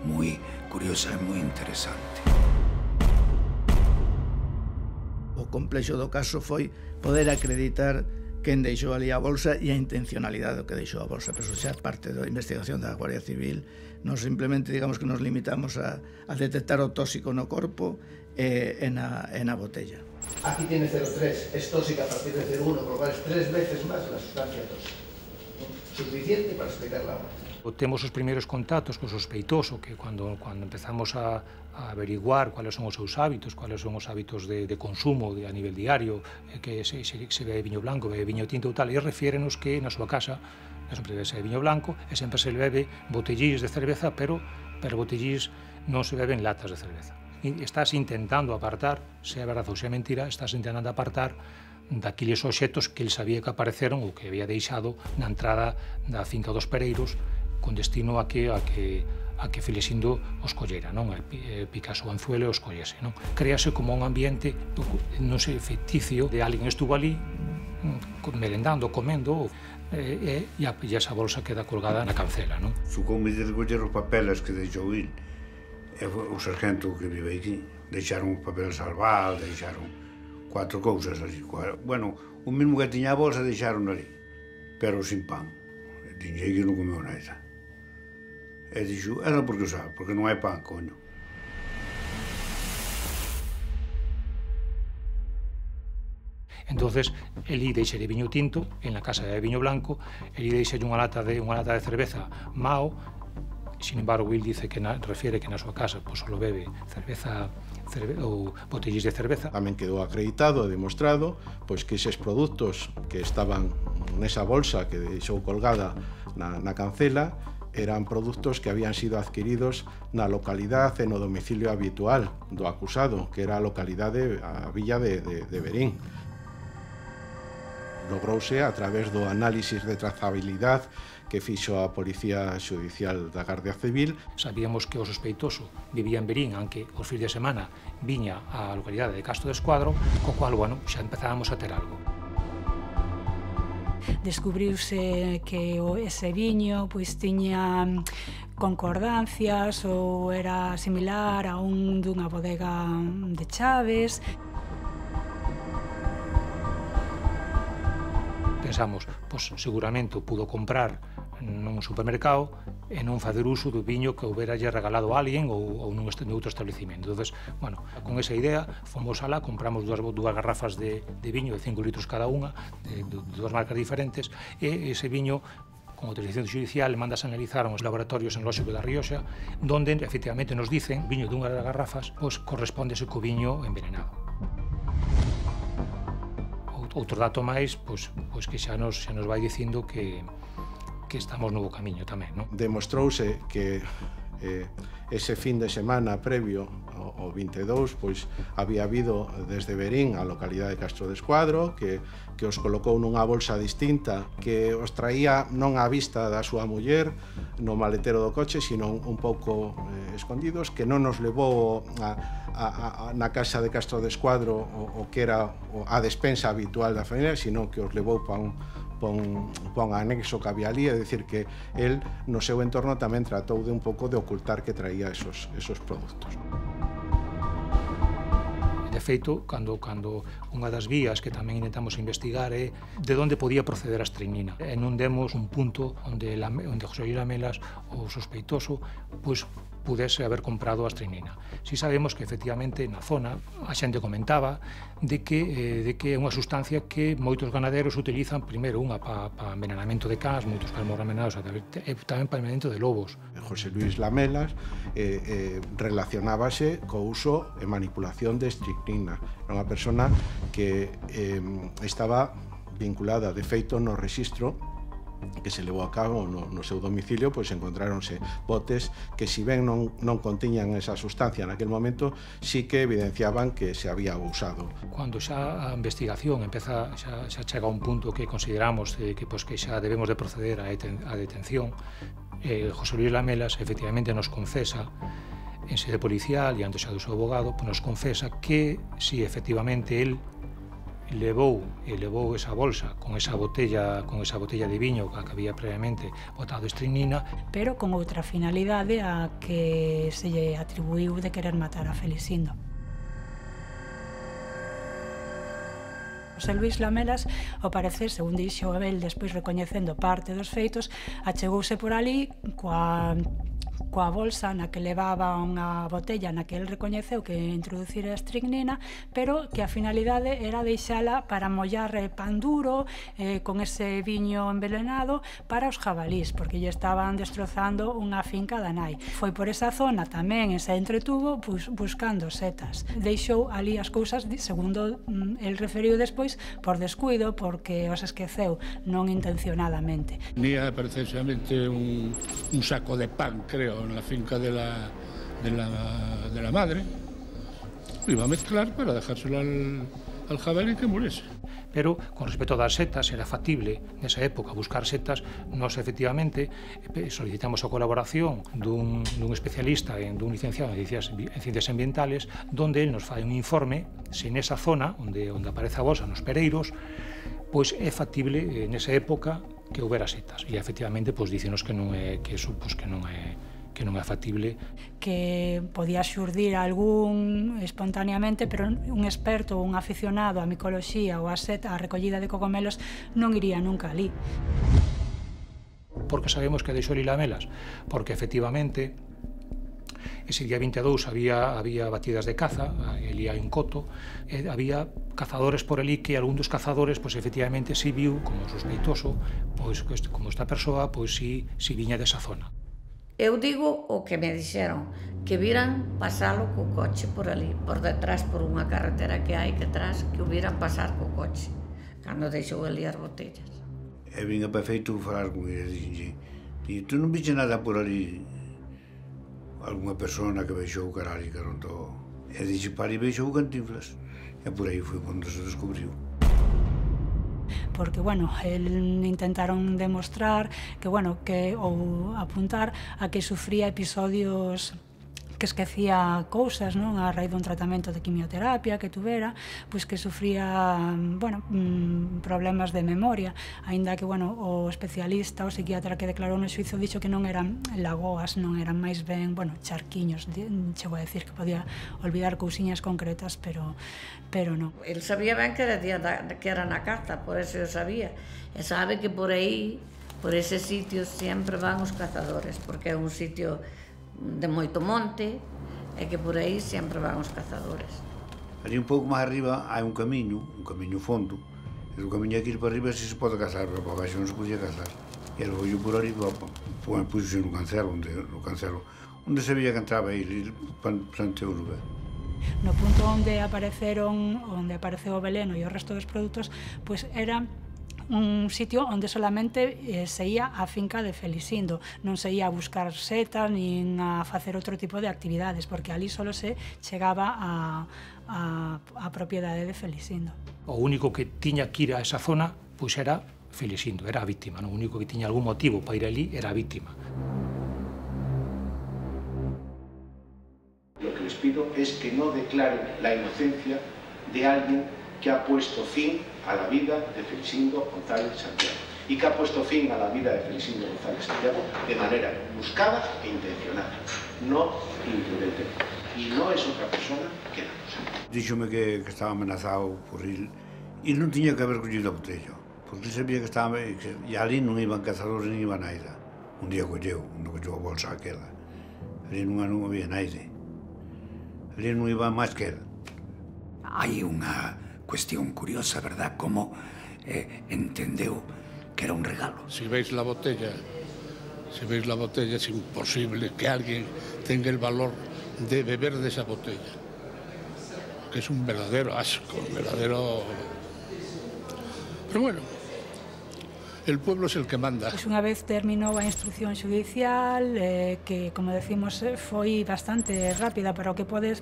moi curiosa e moi interesante. O complexo do caso foi poder acreditar quen deixou ali a bolsa e a intencionalidade do que deixou a bolsa. Pero eso xa parte da investigación da Guardia Civil. Non simplemente, digamos, que nos limitamos a, a detectar o tóxico no corpo e, e, na, e na botella. Aquí tiene cero tres, es tóxica a partir de cero uno, por lo cual es tres veces más la sustancia tóxica. Suficiente para explicar la muerte. Temos os primeiros contactos co sospeitoso, que cando, cando empezamos a, a averiguar cuáles son os seus hábitos, cuáles son os hábitos de, de consumo de, a nivel diario, que se, se, se bebe viño blanco, bebe viño tinto ou tal, e refiérenos que na súa casa sempre bebe viño blanco e sempre se bebe botellís de cerveza, pero, pero botellís non se beben latas de cerveza. E estás intentando apartar, se é verdade ou se é mentira, estás intentando apartar daquiles obxetos que el sabía que apareceron ou que había deixado na entrada da finca dos Pereiros con destino a que a que a que Felisindo os collera, non? Picasso o anzuelo e os collese, non? Créase como un ambiente, non sei, ficticio, de alguén estuvo ali merendando, comendo, e, e, e esa bolsa queda colgada na cancela, non? Sucoume de recoller os papeles que deixou il, e o sargento que vive aquí, deixaron os papeles salvados, deixaron cuatro cousas así. Bueno, o mesmo que tiña a bolsa deixaron ali, pero sin pan. Tiñei que non comeu nada. E dixo, era porque o sabe, porque non hai pan, coño. Entonces, elí deixalle viño tinto, en la casa de viño blanco, elí deixalle unha lata de unha lata de cerveza Mao. Sin embargo, Will dice que na, refiere que na súa casa pues, solo bebe cerveza cerve, ou botellís de cerveza. Tamén quedou acreditado e demostrado pois, que eses produtos que estaban nesa bolsa que deixou colgada na, na cancela eran produtos que habían sido adquiridos na localidade e no domicilio habitual do acusado, que era a localidade, a villa de, de, de Verín. Logrouse a través do análisis de trazabilidade que fixo a Policía Judicial da Gardia Civil. Sabíamos que o sospeitoso vivía en Verín, aunque os fins de semana viña á localidade de Castro de Escuadro, co cual, bueno, xa empezábamos a ter algo. Descubriuse que ese viño pois tiña concordancias ou era similar a un dunha bodega de Chaves. Pensamos, pois seguramente o pudo comprar nun supermercado e non facer uso do viño que houbera lle regalado a alguén ou, ou nun outro establecimento. Entonces, bueno, con esa idea, fomos alá, compramos dúas, dúas garrafas de, de viño de cinco litros cada unha, de, de, de dúas marcas diferentes, e ese viño, con autorización judicial, mandas a analizar aos laboratorios enolóxicos da Rioxa, donde, efectivamente, nos dicen, viño dunha das garrafas, pois correspondese co viño envenenado. Outro dato máis, pois, pois que xa nos, xa nos vai dicindo que que estamos no bo camiño tamén, non? Demostrouse que eh, ese fin de semana previo ao vinte e dous, pois había habido desde Verín a localidade de Castro de Escuadro que, que os colocou nunha bolsa distinta que os traía non á vista da súa muller no maletero do coche, sino un pouco eh, escondidos, que non nos levou a, a, a, na casa de Castro de Escuadro o, o que era a despensa habitual da familia, sino que os levou para un pon, pon anexo que había ali, é dicir que el no seu entorno tamén tratou de un pouco de ocultar que traía esos, esos produtos. De feito, cando, cando unha das vías que tamén intentamos investigar é de onde podía proceder a estregnina. E non demos un punto onde, la, onde José Luis Lamelas, o sospeitoso, pois, pudese haber comprado a estregnina. Si sabemos que, efectivamente, na zona, a xente comentaba de que, eh, de que é unha sustancia que moitos ganaderos utilizan, primeiro, unha para pa envenenamento de cans, moitos cans envenenados, e tamén para envenenamento de lobos. José Luis Lamelas eh, eh, relacionábase co uso e manipulación de estregnina. Era unha persona que eh, estaba vinculada, de feito, no rexistro que se levou a cabo no, no seu domicilio, pois encontráronse botes que, si ben non, non contiñan esa sustancia naquel momento, sí que evidenciaban que se había usado. Cando xa a investigación empeza, xa, xa chega a un punto que consideramos eh, que, pois, que xa debemos de proceder a, deten, a detención, eh, José Luis Lamelas efectivamente nos confesa en sede policial e antes xa do seu abogado, pois nos confesa que si efectivamente el levou e levou esa bolsa con esa botella con esa botella de viño que había previamente botado estregnina, pero con outra finalidade a que se lle atribuiu de querer matar a Felicindo. José Luis Lamelas, ao parecer, según dixo Abel, despois recoñecendo parte dos feitos, achegouse por ali coa coa bolsa na que levaba unha botella na que el recoñeceu que introducir a estregnina, pero que a finalidade era deixala para mollar pan duro eh, con ese viño envenenado para os jabalís, porque lle estaban destrozando unha finca da nai. Foi por esa zona tamén e se entretuvo bus, buscando setas. Deixou ali as cousas, segundo el referiu despois, por descuido, porque os esqueceu, non intencionadamente. Nía precisamente un, un saco de pan, creo, en la finca de la, de la, de la madre. Iba a mezclar para dejárselo al, al jabalí que muriese. Pero, con respecto das setas, era factible nesa época buscar setas. Nós, efectivamente, solicitamos a colaboración dun, dun especialista, en, dun licenciado en ciencias, en ciencias ambientales, donde él nos fai un informe se nesa zona onde, onde aparece a bolsa nos pereiros, pois é factible nesa época que houbera setas. E, efectivamente, pois, dícenos que non é, que eso, pois, que non é que non é factible. Que podía xurdir algún espontaneamente, pero un experto ou un aficionado á micoloxía ou á seta, á recollida de cogomelos, non iría nunca ali. Por que sabemos que deixou Lamelas? Porque, efectivamente, ese día vinte e dous había, había batidas de caza, ali hai un coto, e había cazadores por ali que algún dos cazadores, pois, efectivamente, si viu como sospeitoso, pois, como esta persoa, pois, si, si viña desa zona. Eu digo o que me dixeron, que viran pasalo co coche por ali, por detrás, por unha carretera que hai que atrás, que o viran pasar co coche, cando deixou ali as botellas. E vinha perfeito falar con ele, dixenlle, e tú non vixe nada por ali, algunha persona que vexou o caralho que non todo. E dixe, para e vexou o Cantinflas, e por aí foi onde se descubriu. Porque, bueno, el intentaron demostrar que, bueno, que ou apuntar a que sufría episodios que esquecía cousas, non? A raíz dun tratamento de quimioterapia que tuvera, pois que sufría, bueno, problemas de memoria, aínda que, bueno, o especialista, o psiquiatra que declarou no xuizo dixo que non eran lagoas, non eran máis ben, bueno, charquiños, chegou a decir que podía olvidar cousiñas concretas, pero pero non. El sabía ben que era, que era na caza, por eso eu sabía, e sabe que por aí, por ese sitio, sempre van os cazadores, porque é un sitio de moito monte, e que por aí sempre van os cazadores. Ali un pouco máis arriba hai un camiño, un camiño fondo, e o camiño aquí para arriba si se pode cazar, pero para baixo non se podía cazar. E era o ollo por arriba, puxo no cancelo, onde, no cancelo, onde se veía que entraba aí, plante urbe. No punto onde apareceron, onde apareceu o veleno e o resto dos produtos, pois era un sitio onde solamente eh, se ia a finca de Felisindo, non se ia a buscar setas nin a facer outro tipo de actividades, porque ali solo se chegaba a, a, a propiedade de Felisindo. O único que tiña que ir a esa zona pois era Felisindo, era a víctima, non? O único que tiña algún motivo para ir ali era a víctima. Lo que les pido es que no declaren la inocencia de alguien que ha puesto fin a la vida de Felisindo González Santiago y que ha puesto fin a la vida de Felisindo González Santiago de manera buscada e intencionada, no imprudentemente. Y no es otra persona que la cosa. Díxome que, que estaba amenazado por ir e non tiña que haber collido a botella, porque sabía que estaba que, e ali non iban cazadores nin iba naida. Un día colleu, non colleu a bolsa aquela. Ali non, non había naide. Ali non iba máis que él. Hai unha cuestión curiosa, verdad? Como eh, entendeu que era un regalo. Si veis la botella, si veis la botella, es imposible que alguien tenga el valor de beber de esa botella. Que es un verdadero asco, un verdadero... Pero bueno, el pueblo es el que manda. Pois unha vez terminou a instrucción judicial, eh, que, como decimos, foi bastante rápida, pero o que podes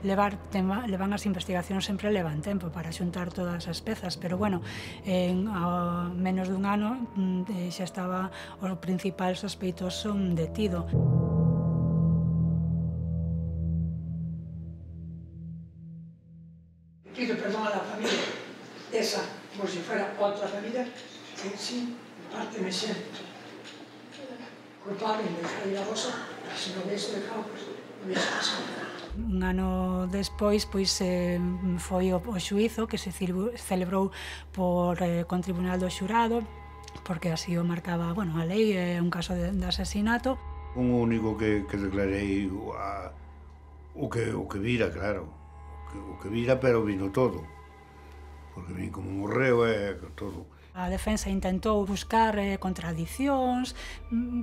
levar, tema, levan as investigacións sempre levan tempo para xuntar todas as pezas, pero bueno, en a menos dun ano eh, xa estaba o principal sospeitoso detido. Pido perdón a la familia, esa, como si fuera otra familia, que sí, en parte me siento culpable de dejar ir a vos, pero si no hubiese dejado, pues no hubiese pasado nada. Un ano despois, pois, eh, foi o, o xuízo que se celebrou por, eh, con Tribunal do Xurado, porque así o marcaba, bueno, a lei, é eh, un caso de, de asesinato. Un único que, que declarei a, o, que, o que vira, claro, o que, o que vira, pero vino todo, porque vin como morreu e eh, todo. A defensa intentou buscar eh, contradicións,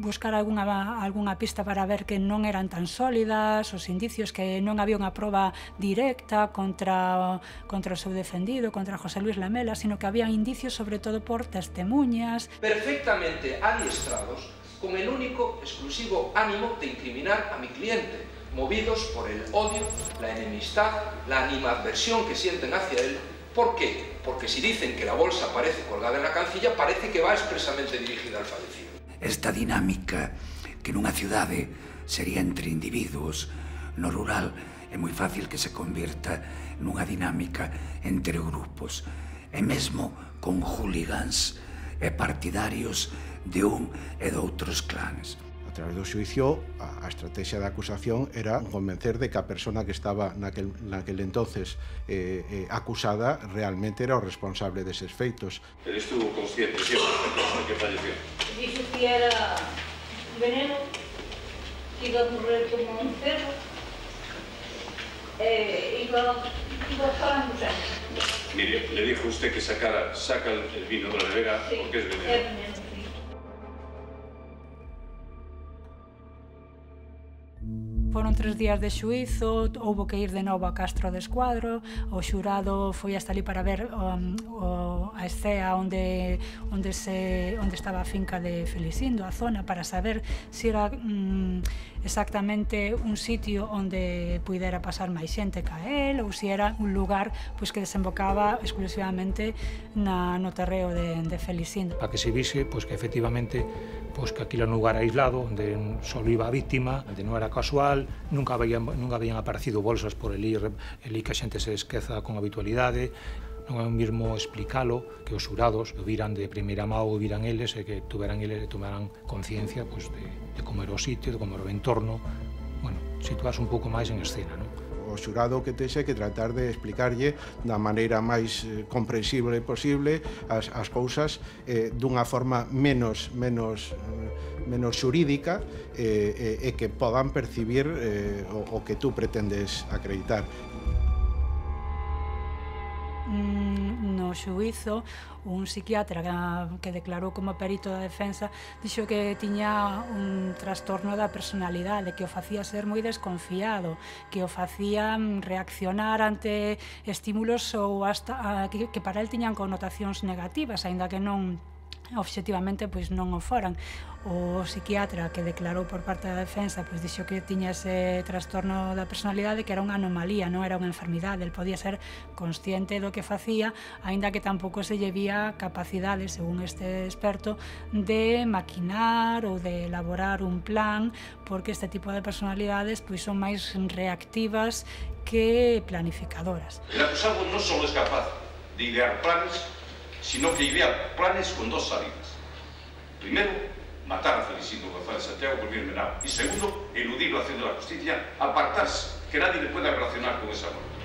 buscar algunha, algunha pista para ver que non eran tan sólidas, os indicios que non había unha proba directa contra, contra o seu defendido, contra José Luis Lamela, sino que había indicios sobre todo por testemunhas. Perfectamente adiestrados con el único, exclusivo ánimo de incriminar a mi cliente, movidos por el odio, la enemistad, la animadversión que sienten hacia él. ¿Por qué? Porque si dicen que la bolsa aparece colgada en la cancilla, parece que va expresamente dirigida al fallecido. Esta dinámica que nunha cidade sería entre individuos, no rural é moi fácil que se convirta nunha dinámica entre grupos, e mesmo con hooligans e partidarios de un e de outros clans. A través do xuicio, a, a estrategia da acusación era convencer de que a persona que estaba naquel, naquel entonces eh, eh, acusada realmente era o responsable deses feitos. Pero estuvo consciente siempre de que falleció. Dixo que era veneno, que iba a morrer como un cerro, e iba, iba falando sempre. Mire, le dijo usted que sacara, saca el vino de la nevera, sí, porque es veneno. É veneno. Foron tres días de xuízo, houbo que ir de novo a Castro de Escuadro, o xurado foi hasta ali para ver um, o, a escea onde, onde, se, onde estaba a finca de Felisindo, a zona, para saber se era um, exactamente un sitio onde pudera pasar máis xente ca él, ou se era un lugar pois, que desembocaba exclusivamente na, no terreo de, de Felisindo. Para que se vise pois, que efectivamente pois, que aquilo era un lugar aislado, onde só iba a víctima, onde non era casual, nunca habían, nunca habían aparecido bolsas por elí, elí que a xente se esqueza con habitualidade. Non é o mesmo explicalo que os xurados o viran de primeira mão, o viran eles, e que tuveran eles e tomaran conciencia pois, de, de como era o sitio, de como era o entorno. Bueno, situarse un pouco máis en escena, non? O xurado que texe que tratar de explicarlle da maneira máis eh, comprensible posible as, as cousas eh, dunha forma menos, menos, eh, menos xurídica eh, e, e que podan percibir eh, o, o que tú pretendes acreditar. No xuízo, un psiquiatra que declarou como perito da defensa dixo que tiña un trastorno da personalidade, que o facía ser moi desconfiado, que o facía reaccionar ante estímulos ou hasta que, que para el tiñan connotacións negativas, aínda que non obxectivamente pois non o foran. O psiquiatra que declarou por parte da defensa pois dixo que tiña ese trastorno da personalidade, que era unha anomalía, non era unha enfermidade, el podía ser consciente do que facía, aínda que tampouco se lle vía capacidade, según este experto, de maquinar ou de elaborar un plan, porque este tipo de personalidades pois son máis reactivas que planificadoras. El acusado non só é capaz de idear planes, sino que idea planes con dos salidas. Primero, matar a Felicindo González Santiago por bien menor. Y segundo, eludir la acción de la justicia, apartarse, que nadie le pueda relacionar con esa muerte.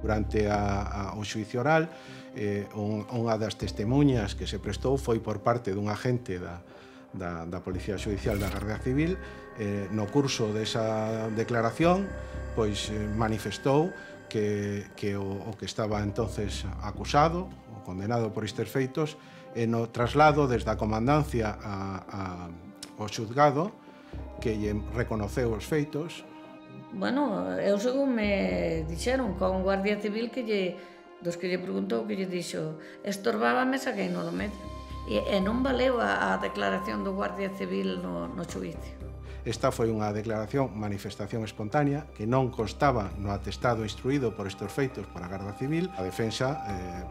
Durante a, a, o xuicio oral, eh, un, unha das testemunhas que se prestou foi por parte dun agente da, da, da Policía Judicial da Garda Civil. Eh, no curso desa declaración, pois eh, manifestou que, que o, o que estaba entonces acusado, o condenado por estes feitos, e no traslado desde a comandancia a, a, ao xuzgado, que lle reconoceu os feitos. Bueno, eu según me dixeron con un guardia civil que lle, dos que lle preguntou, que lle dixo estorbábame, saquei no do medio. E, e non valeu a, a declaración do guardia civil no, no xuicio. Esta foi unha declaración, manifestación espontánea, que non constaba no atestado instruído por estes feitos para a Garda Civil. A defensa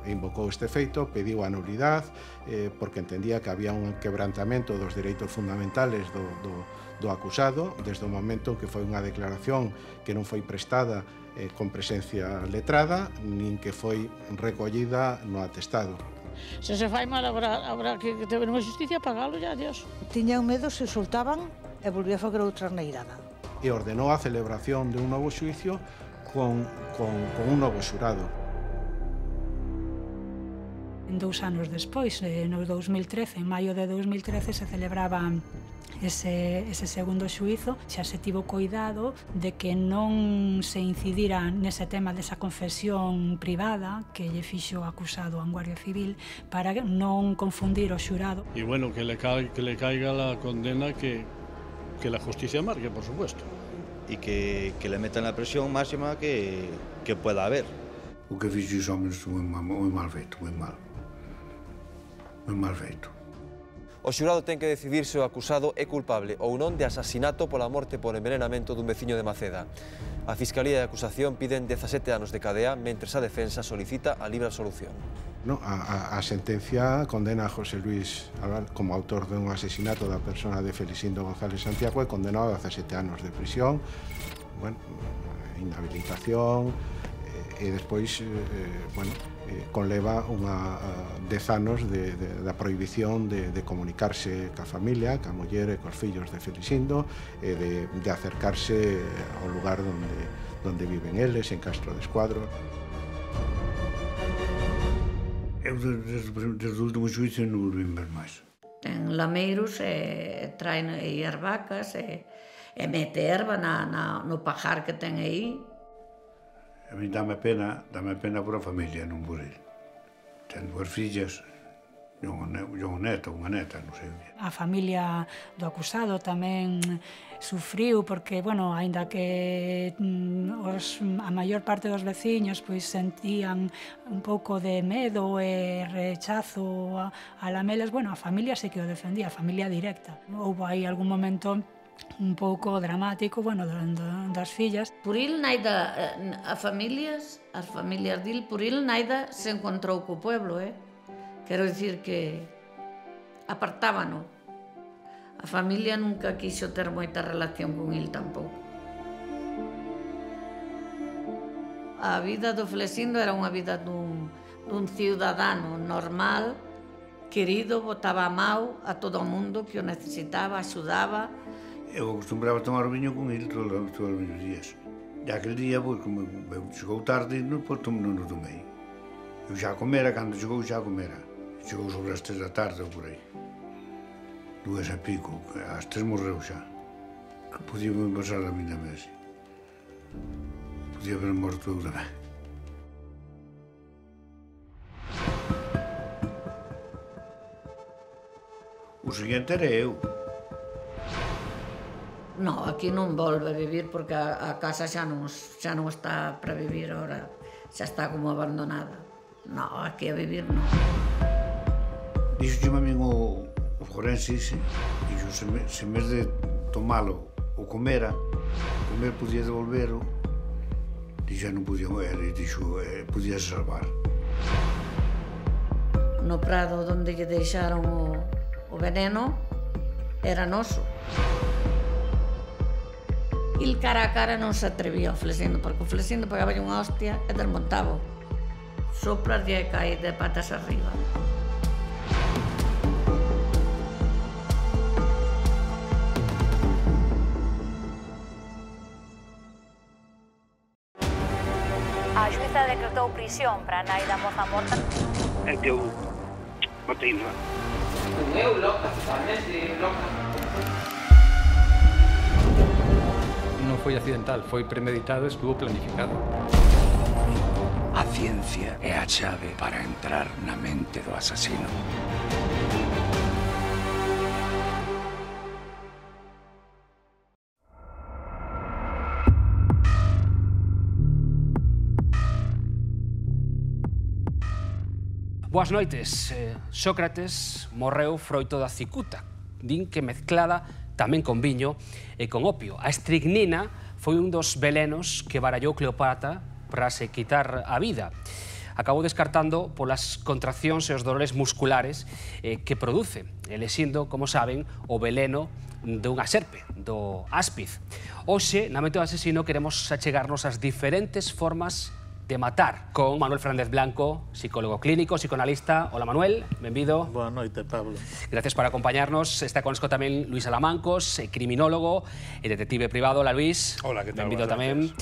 eh, invocou este feito, pediu a nulidade, eh, porque entendía que había un quebrantamento dos dereitos fundamentales do, do, do acusado, desde o momento en que foi unha declaración que non foi prestada eh, con presencia letrada, nin que foi recollida no atestado. Se se fai mal, habrá, habrá que ter unha justicia pagalo, ya, adiós. Tiñan medo se soltaban e volvía a fazer outra neirada. E ordenou a celebración de un novo xuicio con, con, con un novo xurado. Dous anos despois, no dous mil trece, en maio de dous mil trece, se celebraba ese, ese segundo xuízo. Xa se tivo cuidado de que non se incidira nese tema desa confesión privada que lle fixo o acusado a un guardia civil, para non confundir o xurado. Y bueno, que le, ca que le caiga la condena que, que la justicia marque, por supuesto. Y que, que le metan la presión máxima que, que pueda haber. O que fixo os homens moi mal, moi mal feito, moi mal. Moi mal feito. O xurado ten que decidir se o acusado é culpable ou non de asasinato pola morte por envenenamento dun veciño de Maceda. A Fiscalía e a acusación piden dezasete anos de cadea, mentres a defensa solicita a libre absolución. No, a, a, a sentencia condena a José Luis Albal como autor dun asesinato da persona de Felicindo González Santiago e condenado a dezasete anos de prisión, bueno, inhabilitación, e despois, eh, bueno, eh, conleva unha uh, dez anos de, de, da prohibición de, de comunicarse ca familia, ca muller e cos fillos de Felicindo, e de, de acercarse ao lugar donde, donde viven eles, en Castro de Escuadro. Eu desde, desde o último xuicio non volví ver máis. Ten lameiros e traen aí as vacas e, e mete erva na, na, no pajar que ten aí. A mí dame pena, dame pena por a familia, non por ele. Ten dúas fillas, e unha neta, unha neta, non sei. A familia do acusado tamén sufriu porque, bueno, aínda que os, a maior parte dos veciños pois sentían un pouco de medo e rechazo a, a lamelas, bueno, a familia sí que o defendía, a familia directa. Houve aí algún momento un pouco dramático, bueno, das fillas. Por il naida, a familias, as familias dil, por il naida se encontrou co pueblo, eh? Quero dicir que apartábano. A familia nunca quixo ter moita relación con il tampouco. A vida do Felicindo era unha vida dun, dun ciudadano normal, querido, botaba a mau a todo o mundo que o necesitaba, axudaba. Eu acostumbraba a tomar o viño con ele todos, todos os días. E aquel día, pois, como chegou tarde, non, pois, non o tomei. Eu xa comera, cando chegou xa comera. Chegou sobre as tres da tarde ou por aí. Duas e pico, as tres morreu xa. Que podía me pasar a mí tamén así. Podía haber morto eu tamén. O seguinte era eu. No, aquí non volve a vivir porque a, a casa xa non, xa non está para vivir ahora, xa está como abandonada. No, aquí a vivir non. Dixo que a min o, o forense ese, dixo, se, me, se en vez de tomalo o comera, comer podía devolvero, dixo, non podía mover, e dixo, eh, podía salvar. No prado onde lle deixaron o, o veneno era noso. Il cara a cara non se atrevía ao Flesindo, porque o Flesindo pegaba unha hostia e desmontaba. Sopras e cae de patas arriba. A xuíza decretou prisión para a nai da moza morta. É que eu matei má. Eu loca, totalmente loca. Non foi accidental, foi premeditado, estuvo planificado. A ciencia é a chave para entrar na mente do asasino. Boas noites. Sócrates morreu froito da cicuta. Din que mezclada tamén con viño e con opio. A estricnina foi un dos velenos que barallou Cleopatra para se quitar a vida. Acabou descartando polas contraccións e os dolores musculares que produce, elixindo, como saben, o veleno dunha serpe, do áspiz. Hoxe, na Mente do Asesino, queremos achegarnos ás diferentes formas de matar con Manuel Fernández Blanco, psicólogo clínico, psicoanalista. Hola, Manuel, benvido. Boa noite, Pablo. Gracias por acompañarnos. Está connosco tamén Luis Alamancos, criminólogo e detective privado. Hola, Luis. Hola, que tal? Benvido tamén.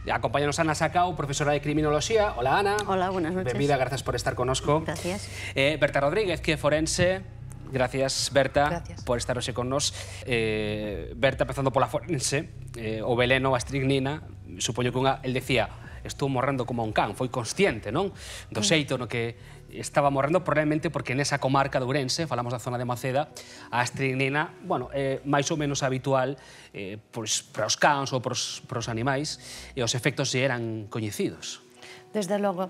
Acompáñanos Ana Sacao, profesora de criminoloxía. Hola, Ana. Hola, buenas noches. Benvida, gracias por estar connosco. Gracias. Eh, Berta Rodríguez, que é forense. Gracias, Berta, Gracias. por estar hoxe con nos. Eh, Berta, empezando pola forense, eh, o veleno, a estricnina, supoño que unha, el decía, estou morrendo como un can, foi consciente, non? Do xeito no que estaba morrendo, probablemente porque nesa comarca de Ourense, falamos da zona de Maceda, a estricnina, bueno, é máis ou menos habitual eh, pois, para os cans ou para os, para os animais, e os efectos se eran coñecidos. Desde logo,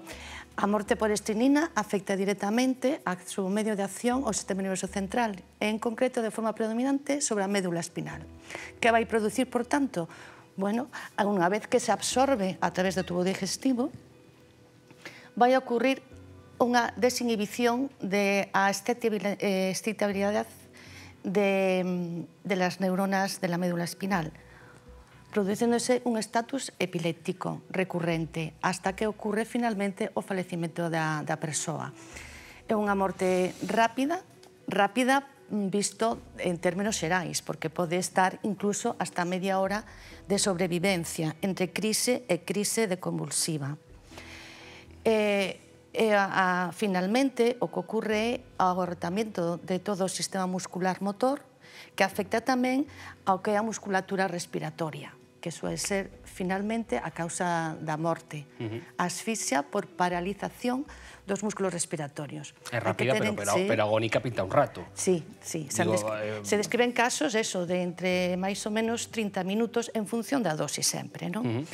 a morte por estricnina afecta directamente a seu medio de acción ao sistema nervioso central, e en concreto de forma predominante sobre a médula espinal. Que vai producir, por tanto, bueno, unha vez que se absorbe a través do tubo digestivo, vai ocurrir unha desinhibición de a excitabilidade de, de las neuronas de la médula espinal, produciéndose un estatus epiléptico recurrente hasta que ocurre finalmente o falecimento da, da persoa. É unha morte rápida, rápida visto en términos xerais, porque pode estar incluso hasta media hora de sobrevivencia entre crise e crise de convulsiva. E, e a, a, finalmente, o que ocorre é o agortamento de todo o sistema muscular motor, que afecta tamén ao que é a musculatura respiratoria, que suele ser finalmente a causa da morte. Uh -huh. Asfixia por paralización dos músculos respiratorios. É rápida, pero, pero, sí. pero agónica pinta un rato. Sí, sí. Se, Digo, descri eh... se describen casos, eso, de entre máis ou menos trinta minutos en función da dosis sempre, non? Uh -huh.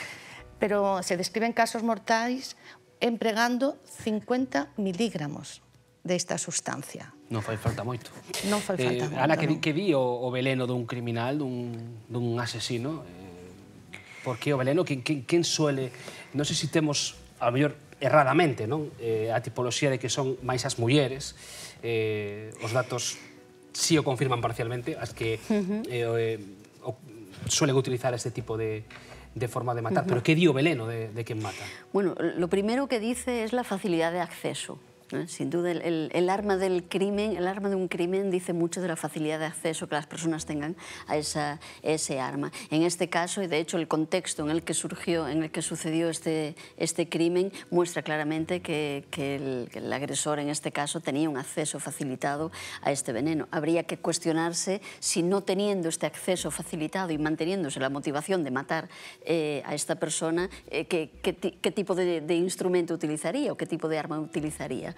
Pero se describen casos mortais empregando cincuenta miligramos desta sustancia. Non fai falta moito. Non fai falta eh, moito, Ana, que, non. que di o, o veleno dun criminal, dun, dun asesino? Eh, por que o veleno? Quen, quen, quen suele... Non sei se temos, a mellor, erradamente, non? Eh, a tipoloxía de que son máis as mulleres. Eh, os datos sí o confirman parcialmente, as que uh -huh. eh, o, suelen utilizar este tipo de... de forma de matar. Uh -huh. Pero que di o veleno de, de quen mata? Bueno, lo primero que dice es la facilidad de acceso. ¿eh? Sin duda, el, el, el arma del crimen, el arma de un crimen dice mucho de la facilidad de acceso que las personas tengan a esa, ese arma. En este caso, y de hecho el contexto en el que surgió, en el que sucedió este, este crimen, muestra claramente que, que, el, que el agresor, en este caso, tenía un acceso facilitado a este veneno. Habría que cuestionarse si, no teniendo este acceso facilitado y manteniéndose la motivación de matar eh, a esta persona, eh, qué, qué, qué tipo de, de instrumento utilizaría o qué tipo de arma utilizaría.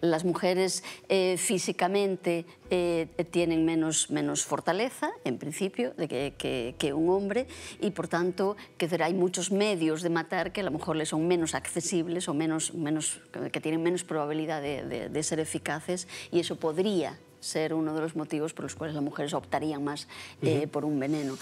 Las mujeres eh, físicamente eh, tienen menos, menos fortaleza, en principio, de que, que, que un hombre, y por tanto que hay muchos medios de matar que a lo mejor les son menos accesibles o menos, menos, que tienen menos probabilidad de, de, de ser eficaces, y eso podría ser uno de los motivos por los cuales las mujeres optarían más eh, uh-huh. por un veneno.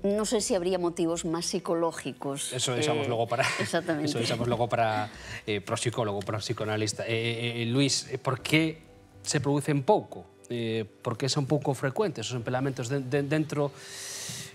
No sé si habría motivos más psicológicos. Eso deixamos eh, luego para... Exactamente. Eso deixamos luego para eh, pro psicólogo, para o psicoanalista. Eh, eh, Luís, por que se producen pouco? Eh, por que son pouco frecuentes os empelamentos de, de, dentro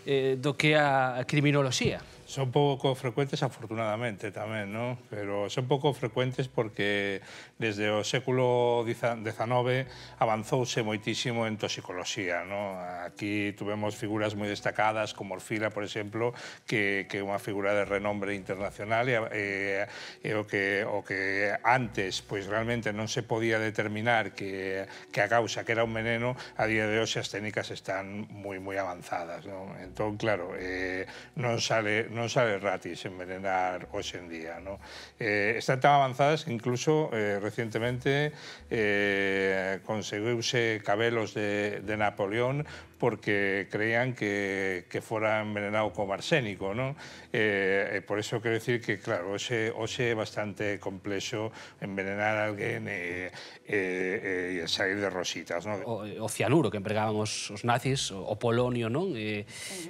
eh, do que é a criminoloxía? Son pouco frecuentes, afortunadamente, tamén, ¿no? Pero son pouco frecuentes porque desde o século diecinueve avanzouse moitísimo en toxicoloxía, ¿no? Aquí tuvemos figuras moi destacadas, como Orfila, por exemplo, que é unha figura de renombre internacional e, e o, que, o que antes, pois realmente non se podía determinar que, que a causa que era un veneno, a día de hoxe as técnicas están moi, moi avanzadas, ¿no? Entón, claro, eh, non sale... non sale gratis envenenar hoxe en día, ¿no? Eh, están tan avanzadas que incluso eh, recientemente eh, conseguiuse cabelos de, de Napoleón porque creían que, que fora envenenado con arsénico, ¿no? Eh, por eso quero decir que, claro, hoxe, hoxe é bastante complexo envenenar a alguén e, e, e sair de rositas, ¿no? O, o cianuro que empregaban os, os nazis, o, o polonio, non? Eh,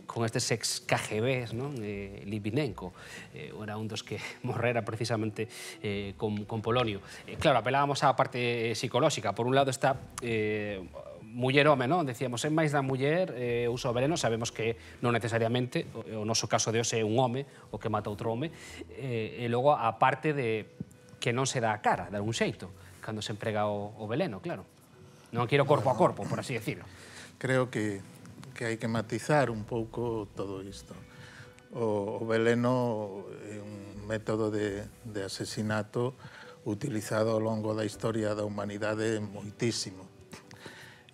con estes ex K G Bs, non? Eh, Litvinenko eh, era un dos que morrera precisamente eh, con, con polonio. Eh, claro, apelábamos á parte psicolóxica. Por un lado está... Eh, muller-home, non? Decíamos, é máis da muller eh, uso o veneno, sabemos que non necesariamente, o, o noso caso de hoxe é un home o que mata outro home, eh, e logo a parte de que non se dá a cara, de algún xeito, cando se emprega o, o veneno, claro. Non quero corpo a corpo, por así decirlo. Creo que, que hai que matizar un pouco todo isto. O, o veneno é un método de, de asesinato utilizado ao longo da historia da humanidade moitísimo.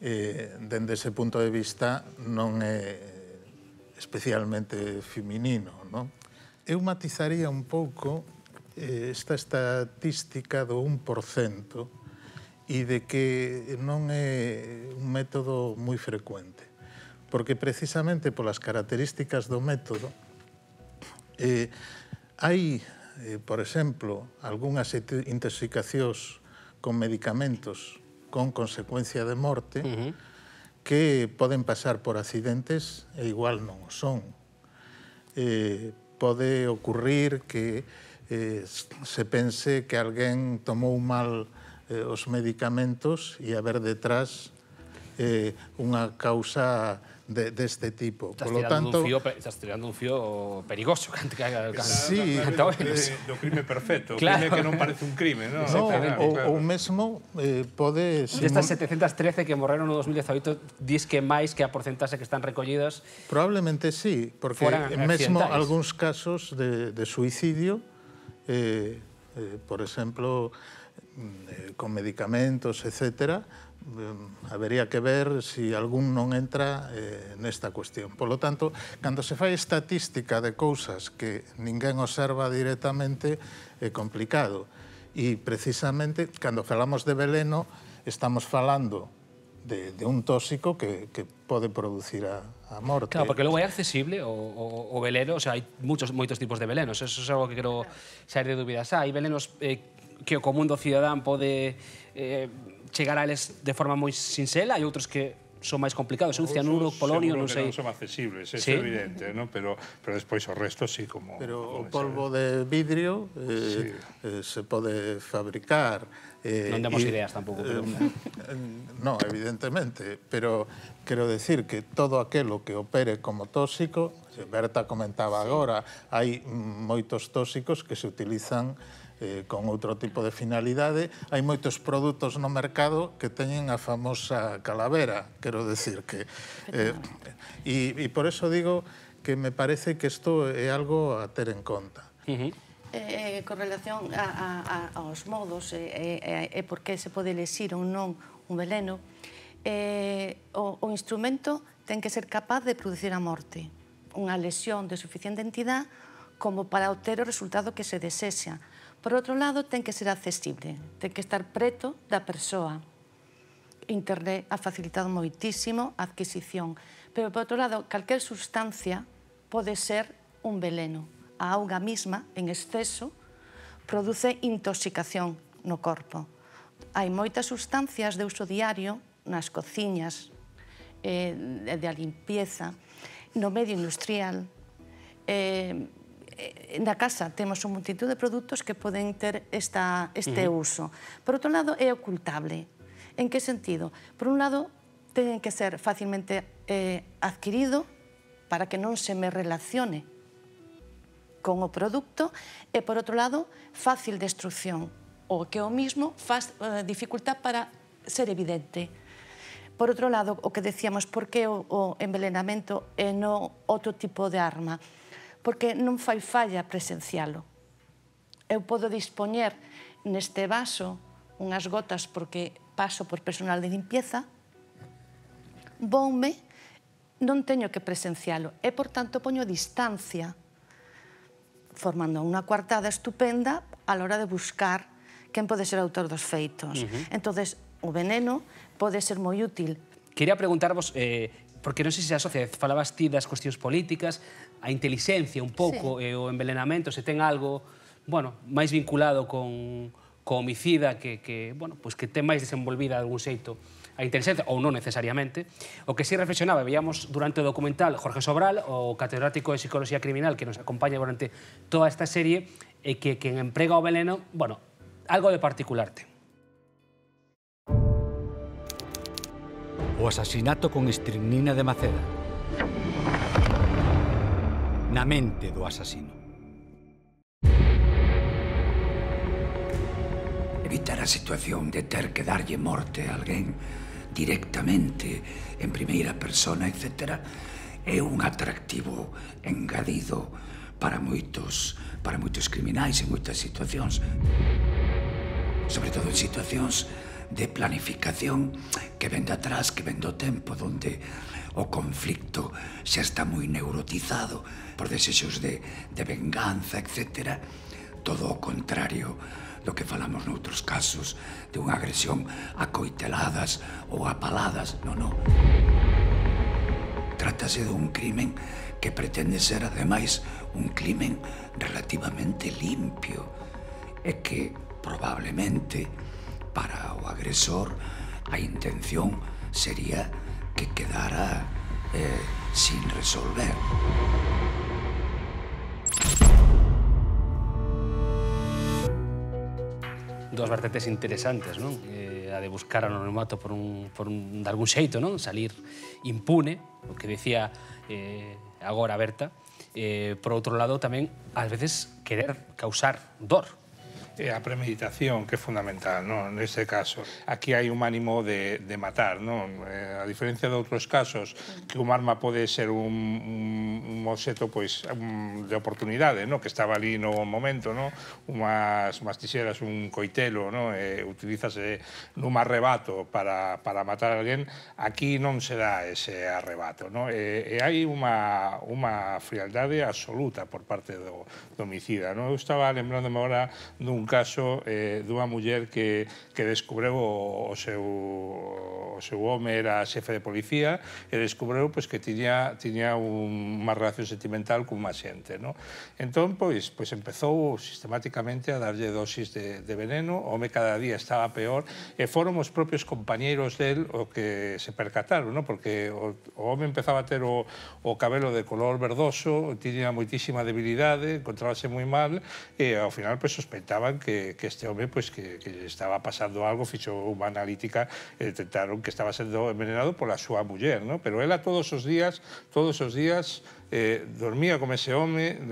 Eh, dende ese punto de vista non é especialmente feminino, non? Eu matizaría un pouco eh, esta estatística do un por cento e de que non é un método moi frecuente, porque precisamente polas características do método eh, hai, eh, por exemplo, algunhas intoxicacións con medicamentos con consecuencia de morte, uh-huh. que poden pasar por accidentes e igual non o son. Eh, pode ocurrir que eh, se pense que alguén tomou mal eh, os medicamentos e haber detrás eh, unha causa de, deste tipo. Estás tirando, tanto, un fío, estás tirando un fío perigoso. Cante, cante, sí, de, do crime perfecto, claro. Crime que non parece un crime, non? No, o, claro. o mesmo eh, pode... Destas setecentas trece que morreron no dos mil dezaoito, dis que máis que a porcentaxe que están recollidas... Probablemente sí, porque mesmo algúns casos de, de suicidio, eh, eh, por exemplo, eh, con medicamentos, etcétera, habería que ver se si algún non entra eh, nesta cuestión. Por lo tanto, cando se fai estatística de cousas que ninguén observa directamente, é complicado. E precisamente, cando falamos de veleno, estamos falando de, de un tóxico que, que pode producir a, a morte. Claro, porque logo é accesible o, o, o veleno, o sea, hai muchos, moitos tipos de velenos, eso é algo que quero sair de dúbidas. Ah, hai velenos eh, que o común do cidadán pode... Eh, chegar a eles de forma moi sinxela, hai outros que son máis complicados, un cianuro, polonio, non sei. Seguro que non son accesibles, é ¿sí? evidente, ¿no? pero, pero despois o resto sí, como... Pero o polvo de vidrio eh, sí. eh, se pode fabricar. Eh, non demos y, ideas tampouco. Pero... Eh, no, evidentemente, pero quero decir que todo aquelo que opere como tóxico, Berta comentaba sí. agora, hai moitos tóxicos que se utilizan Eh, con outro tipo de finalidade. Hai moitos produtos no mercado que teñen a famosa calavera, quero decir que... Eh, e, e por eso digo que me parece que isto é algo a ter en conta. Uh-huh. eh, con relación a, a, aos modos e eh, eh, eh, por que se pode lexir ou non un veleno, eh, o, o instrumento ten que ser capaz de producir a morte, unha lesión de suficiente entidade como para obter o resultado que se desexa. Por outro lado, ten que ser accesible, ten que estar preto da persoa. Internet ha facilitado moitísimo a adquisición, pero, por outro lado, calquer sustancia pode ser un veleno. A auga mesma, en exceso, produce intoxicación no corpo. Hai moitas sustancias de uso diario nas cociñas, eh, de a limpieza, no medio industrial. Eh, na casa temos un multitud de produtos que poden ter esta, este uh-huh. uso. Por outro lado, é ocultable. En que sentido? Por un lado, ten que ser facilmente eh, adquirido para que non se me relacione con o produto e, por outro lado, fácil destrucción, o que o mismo faz eh, dificultad para ser evidente. Por outro lado, o que decíamos, por que o, o envenenamento e non outro tipo de arma? Porque non fai falla presencialo. Eu podo dispoñer neste vaso unhas gotas porque paso por personal de limpieza, voume, non teño que presencialo e, por tanto, poño distancia, formando unha coartada estupenda a la hora de buscar quen pode ser autor dos feitos. Uh-huh. Entonces, o veneno pode ser moi útil. Quería preguntarvos, eh, porque non sei se asocia, falabas ti das cuestións políticas, a inteligencia un pouco, sí. e o envenenamento, se ten algo, bueno, máis vinculado con co homicida que, que, bueno, pues que ten máis desenvolvida de algún xeito a inteligencia, ou non necesariamente. O que sí reflexionaba, veíamos durante o documental Jorge Sobral, o catedrático de Psicología Criminal que nos acompaña durante toda esta serie, e que quen emprega o veneno, bueno, algo de particular ten. O asasinato con estricnina de Maceda. Na mente do asasino. Evitar a situación de ter que darlle morte a alguén directamente, en primeira persona, etcétera, é un atractivo engadido para moitos, para moitos criminais en moitas situacións. Sobre todo en situacións de planificación que ven de atrás, que ven do tempo, onde o conflicto xa está moi neurotizado por desexos de, de venganza, etcétera. Todo o contrario do que falamos noutros casos de unha agresión a coiteladas ou a paladas. Non, non. Trátase dun crimen que pretende ser, ademais, un crimen relativamente limpio e que, probablemente, para o agresor, a intención sería que quedara eh, sin resolver. Dos vertentes interesantes, non? Eh, a de buscar anonimato por un, por un, de algún xeito, non? Salir impune, o que decía eh, agora Berta. Eh, por outro lado, tamén, ás veces, querer causar dor. A premeditación, que é fundamental, non? Neste caso. Aquí hai un ánimo de, de matar, non? Eh, a diferencia de outros casos, que un arma pode ser un, un, un obxeto pois, un, de oportunidade, non? Que estaba ali no momento, non? Umas, umas tixeras, un coitelo, non? Eh, utilízase nun arrebato para, para matar a alguén. Aquí non se dá ese arrebato, non? E, e hai unha, unha frialdade absoluta por parte do, do homicida, non? Eu estaba lembrándome agora dun caso eh, dunha muller que, que descubreu o, o, seu, o seu home era xefe de policía e descubreu pues, que tiña, tiña un, unha relación sentimental con unha xente. No? Entón, pois, pois empezou sistemáticamente a darlle dosis de, de veneno, o home cada día estaba peor, e foron os propios compañeiros del o que se percataron, no? Porque o, o home empezaba a ter o, o cabelo de color verdoso, tiña moitísima debilidade, encontrábase moi mal, e ao final pues, sospeitaban que, que este home pues, que, que estaba pasando algo, fixo unha analítica e detectaron que estaba sendo envenenado pola súa muller, ¿no? Pero ela todos os días, todos os días eh, dormía con ese home,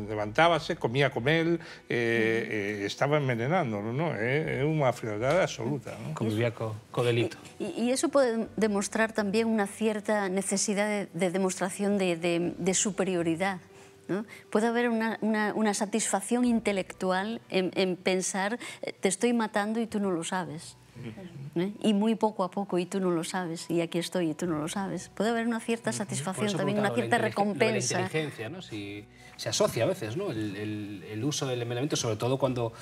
levantábase, comía con él, eh, eh, estaba envenenando, ¿no? É, é unha frialdade absoluta, ¿no? Convivía co, co delito. Y, y eso puede demostrar también una cierta necesidad de, de demostración de, de, de superioridad, ¿no? Puede haber una, una, una satisfacción intelectual en, en pensar te estoy matando y tú no lo sabes. ¿Eh? Y muy poco a poco, y tú no lo sabes, y aquí estoy y tú no lo sabes. Puede haber una cierta satisfacción, también una cierta recompensa. La inteligencia, ¿no? Si se asocia a veces, ¿no? El, el, el uso del envenenamiento, sobre todo cuando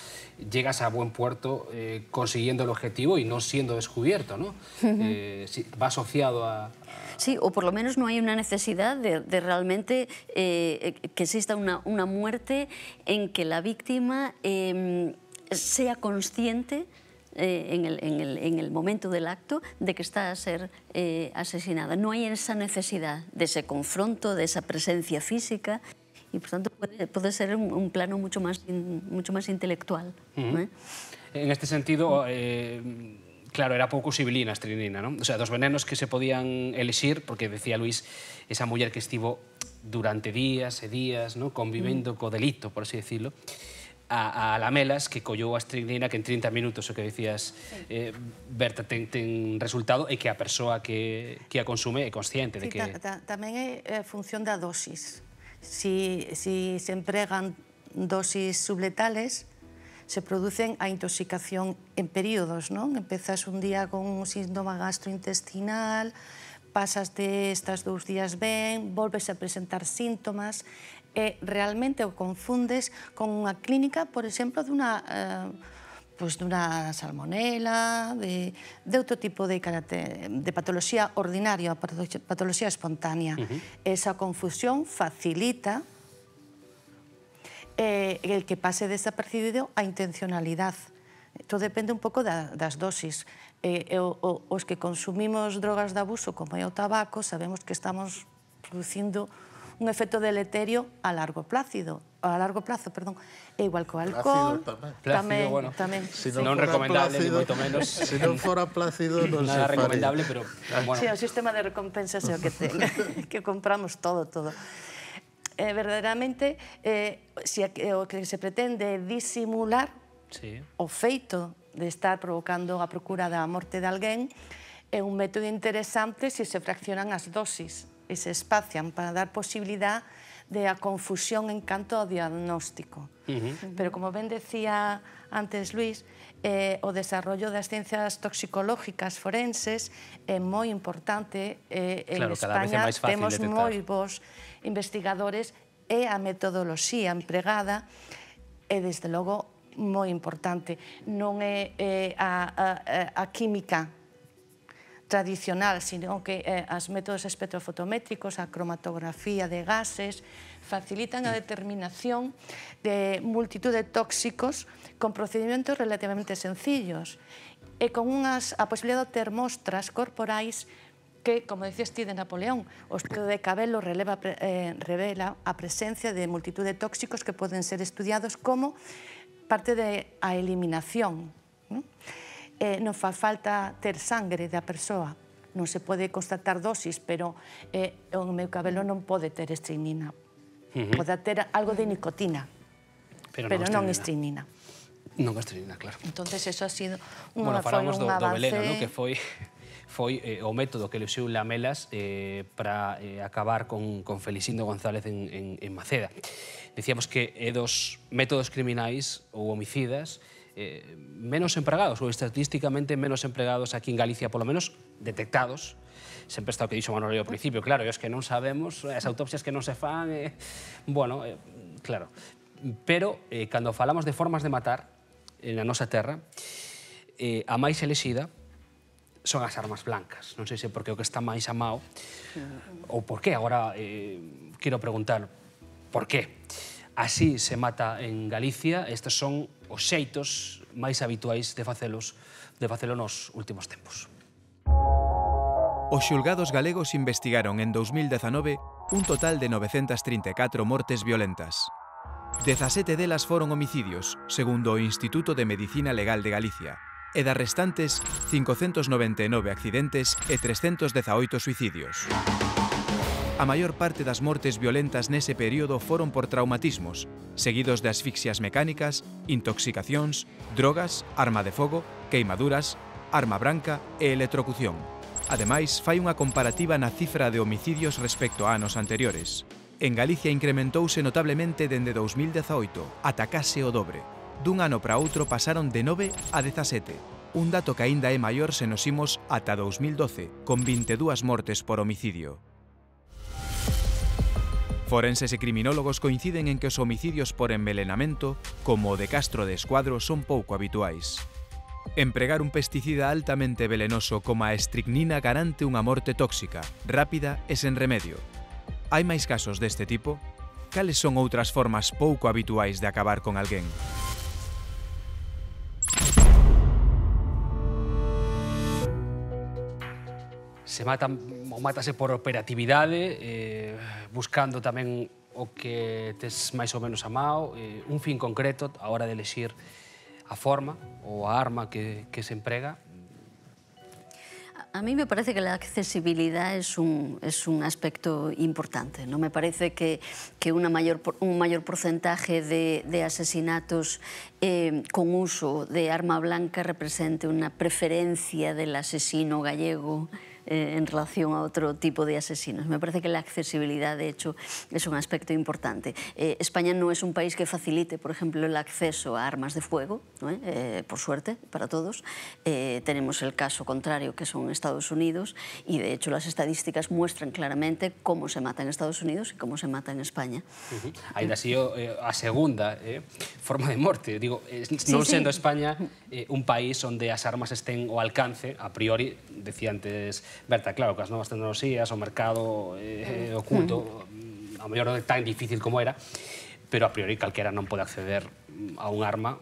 llegas a buen puerto eh, consiguiendo el objetivo y no siendo descubierto, ¿no? Uh-huh. eh, si, va asociado a, a... Sí, o por lo menos no hay una necesidad de, de realmente eh, que exista una, una muerte en que la víctima eh, sea consciente Eh, en, el, en, el, en el momento del acto de que está a ser eh, asesinada. No hay esa necesidad de ese confronto, de esa presencia física, y por tanto puede, puede ser un, un plano mucho más, in, mucho más intelectual. Uh-huh. ¿eh? En este sentido, eh, claro, era pouco sibilina a estrinina, ¿no? O sea, dos venenos que se podían elixir, porque decía Luis, esa muller que estivo durante días e días, ¿no? Convivendo uh-huh. co delito, por así decirlo, a, a lamelas que collou a estricnina que en trinta minutos, o que decías, eh, Berta, ten, ten resultado e que a persoa que, que a consume é consciente de sí, que... Ta, ta, tamén é función da dosis. Si, si se empregan dosis subletales, se producen a intoxicación en períodos, non? Empezas un día con un síndrome gastrointestinal, pasas de estas dous días ben, volves a presentar síntomas, e realmente o confundes con unha clínica, por exemplo, dunha, eh, pues dunha salmonela, de, de outro tipo de, de patoloxía ordinaria, patoloxía espontánea. Uh-huh. Esa confusión facilita eh, el que pase desapercibido a intencionalidad. Todo depende un pouco da, das dosis. Eh, o, o, os que consumimos drogas de abuso, como é o tabaco, sabemos que estamos producindo un efecto deleterio a largo plazo, a largo plazo, perdón, é igual co alcohol, tamén, bueno, tamén. Si non, non recomendable, ni moito menos. Se non fora plácido, non se nada faría. recomendable, pero bueno. Sí, o sistema de recompensas é o que ten, que compramos todo, todo. Eh, verdadeiramente, eh, si o que se pretende disimular sí. o feito de estar provocando a procura da morte de alguén é un método interesante se se fraccionan as dosis e se espacian para dar posibilidad de a confusión en canto ao diagnóstico. Uh-huh. Pero como ben decía antes Luis, eh, o desarrollo das ciencias toxicológicas forenses é moi importante. Eh, claro, en España temos detectar. moi bons investigadores e a metodoloxía empregada é, desde logo, moi importante. Non é eh, a, a, a química tradicional, sino que eh, as métodos espectrofotométricos, a cromatografía de gases, facilitan a determinación de multitud de tóxicos con procedimentos relativamente sencillos e con unhas, a posibilidade de ter mostras corporais que, como decías ti de Napoleón, o estudo de Cabello releva, eh, revela a presencia de multitud de tóxicos que poden ser estudiados como parte da eliminación, ¿no? Eh, non fa falta ter sangre da persoa, non se pode constatar dosis, pero eh, o meu cabelo non pode ter estricnina. Uh-huh. Pode ter algo de nicotina, pero, pero non estricnina. Non estricnina, claro. Entonces eso ha sido unha, bueno, falamos foi un do, avance... do veleno, ¿no? Que foi foi eh, o método que le usou Lamelas eh, para eh, acabar con, con Felicindo González en, en, en Maceda. Decíamos que é dos métodos criminais ou homicidas eh, menos empregados, ou estatísticamente menos empregados aquí en Galicia, polo menos detectados. Sempre está o que dixo Manolo ao principio, claro, e os que non sabemos, as autopsias que non se fan, eh, bueno, eh, claro. Pero, eh, cando falamos de formas de matar eh, na nosa terra, eh, a máis elexida son as armas blancas. Non sei se porque o que está máis amado, ou por qué, agora eh, quero preguntar, por qué? Así se mata en Galicia, estes son os xeitos máis habituais de facelos, de facelo nos últimos tempos. Os xulgados galegos investigaron en dous mil dezanove un total de novecentas trinta e catro mortes violentas. dezasete delas foron homicidios, segundo o Instituto de Medicina Legal de Galicia, e das restantes, cincocentos noventa e nove accidentes e trescentos dezaoito suicidios. A maior parte das mortes violentas nese período foron por traumatismos, seguidos de asfixias mecánicas, intoxicacións, drogas, arma de fogo, queimaduras, arma branca e electrocución. Ademais, fai unha comparativa na cifra de homicidios respecto a anos anteriores. En Galicia incrementouse notablemente dende dous mil dezaoito, ata case o dobre. Dun ano para outro pasaron de nove a dezasete. un dato que aínda é maior se nos imos ata dous mil doce, con vinte e dúas mortes por homicidio. Forenses e criminólogos coinciden en que os homicidios por envelenamento, como o de Castro de Escuadro, son pouco habituais. Empregar un pesticida altamente velenoso como a estricnina garante unha morte tóxica, rápida e sen remedio. Hai máis casos deste tipo? Cales son outras formas pouco habituais de acabar con alguén? Se matan ou mátase por operatividade, eh, buscando tamén o que tes máis ou menos amado, eh, un fin concreto a hora de elegir a forma ou a arma que, que se emprega. A mí me parece que la accesibilidad es un, es un aspecto importante. No me parece que, que una mayor, un mayor porcentaje de, de asesinatos eh, con uso de arma blanca represente una preferencia del asesino gallego eh, en relación a otro tipo de asesinos. Me parece que la accesibilidad, de hecho, es un aspecto importante. Eh, España no es un país que facilite, por ejemplo, el acceso a armas de fuego, ¿no? eh, por suerte, para todos. Eh, tenemos el caso contrario, que son Estados Unidos, y de hecho las estadísticas muestran claramente cómo se mata en Estados Unidos y cómo se mata en España. Uh-huh. Ainda así, eh, a segunda eh, forma de morte, digo, eh, non sí, sendo sí. España eh, un país onde as armas estén ao alcance, a priori, decía antes Berta, claro, que as novas tecnoloxías, o mercado eh, oculto, a mellor non é tan difícil como era, pero a priori calquera non pode acceder a un arma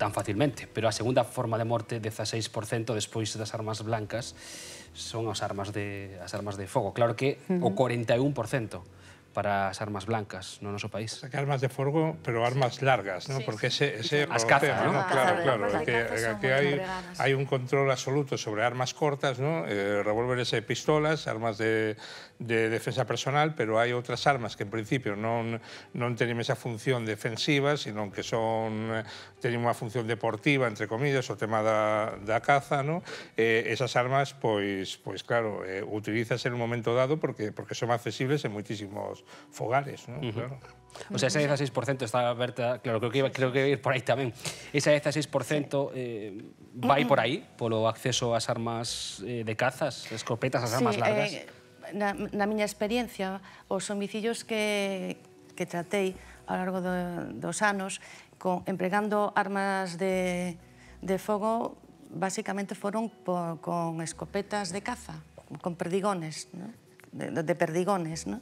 tan facilmente. Pero a segunda forma de morte, dieciséis por cento despois das armas blancas, son as armas de, as armas de fogo. Claro que o cuarenta y uno por ciento para as armas blancas no noso país. O sea, que armas de fuego, pero armas largas, ¿no? Sí, porque ese, ese as cazas, ¿no? Claro, claro, claro, que, que hay, hay un control absoluto sobre armas cortas, ¿no? Eh, revólveres e pistolas, armas de, de defensa personal, pero hai outras armas que en principio non, non teñen esa función defensiva, sino que son teñen unha función deportiva, entre comillas, o tema da, da caza, ¿no? Eh, esas armas, pois, pois claro, eh, utilizas en un momento dado porque, porque son accesibles en moitísimos fogares, ¿no? Uh-huh. Claro. O sea, ese dieciséis por ciento está aberta, claro, creo que iba, creo que iba a ir por aí tamén. Ese dieciséis por ciento eh, vai por aí, polo acceso ás armas eh, de cazas, escopetas, as armas sí, largas? Eh, na, na miña experiencia, os homicidios que, que tratei ao largo do, dos anos, con, empregando armas de, de fogo, basicamente foron por, con escopetas de caza, con perdigones, ¿no? de, de perdigones, ¿no?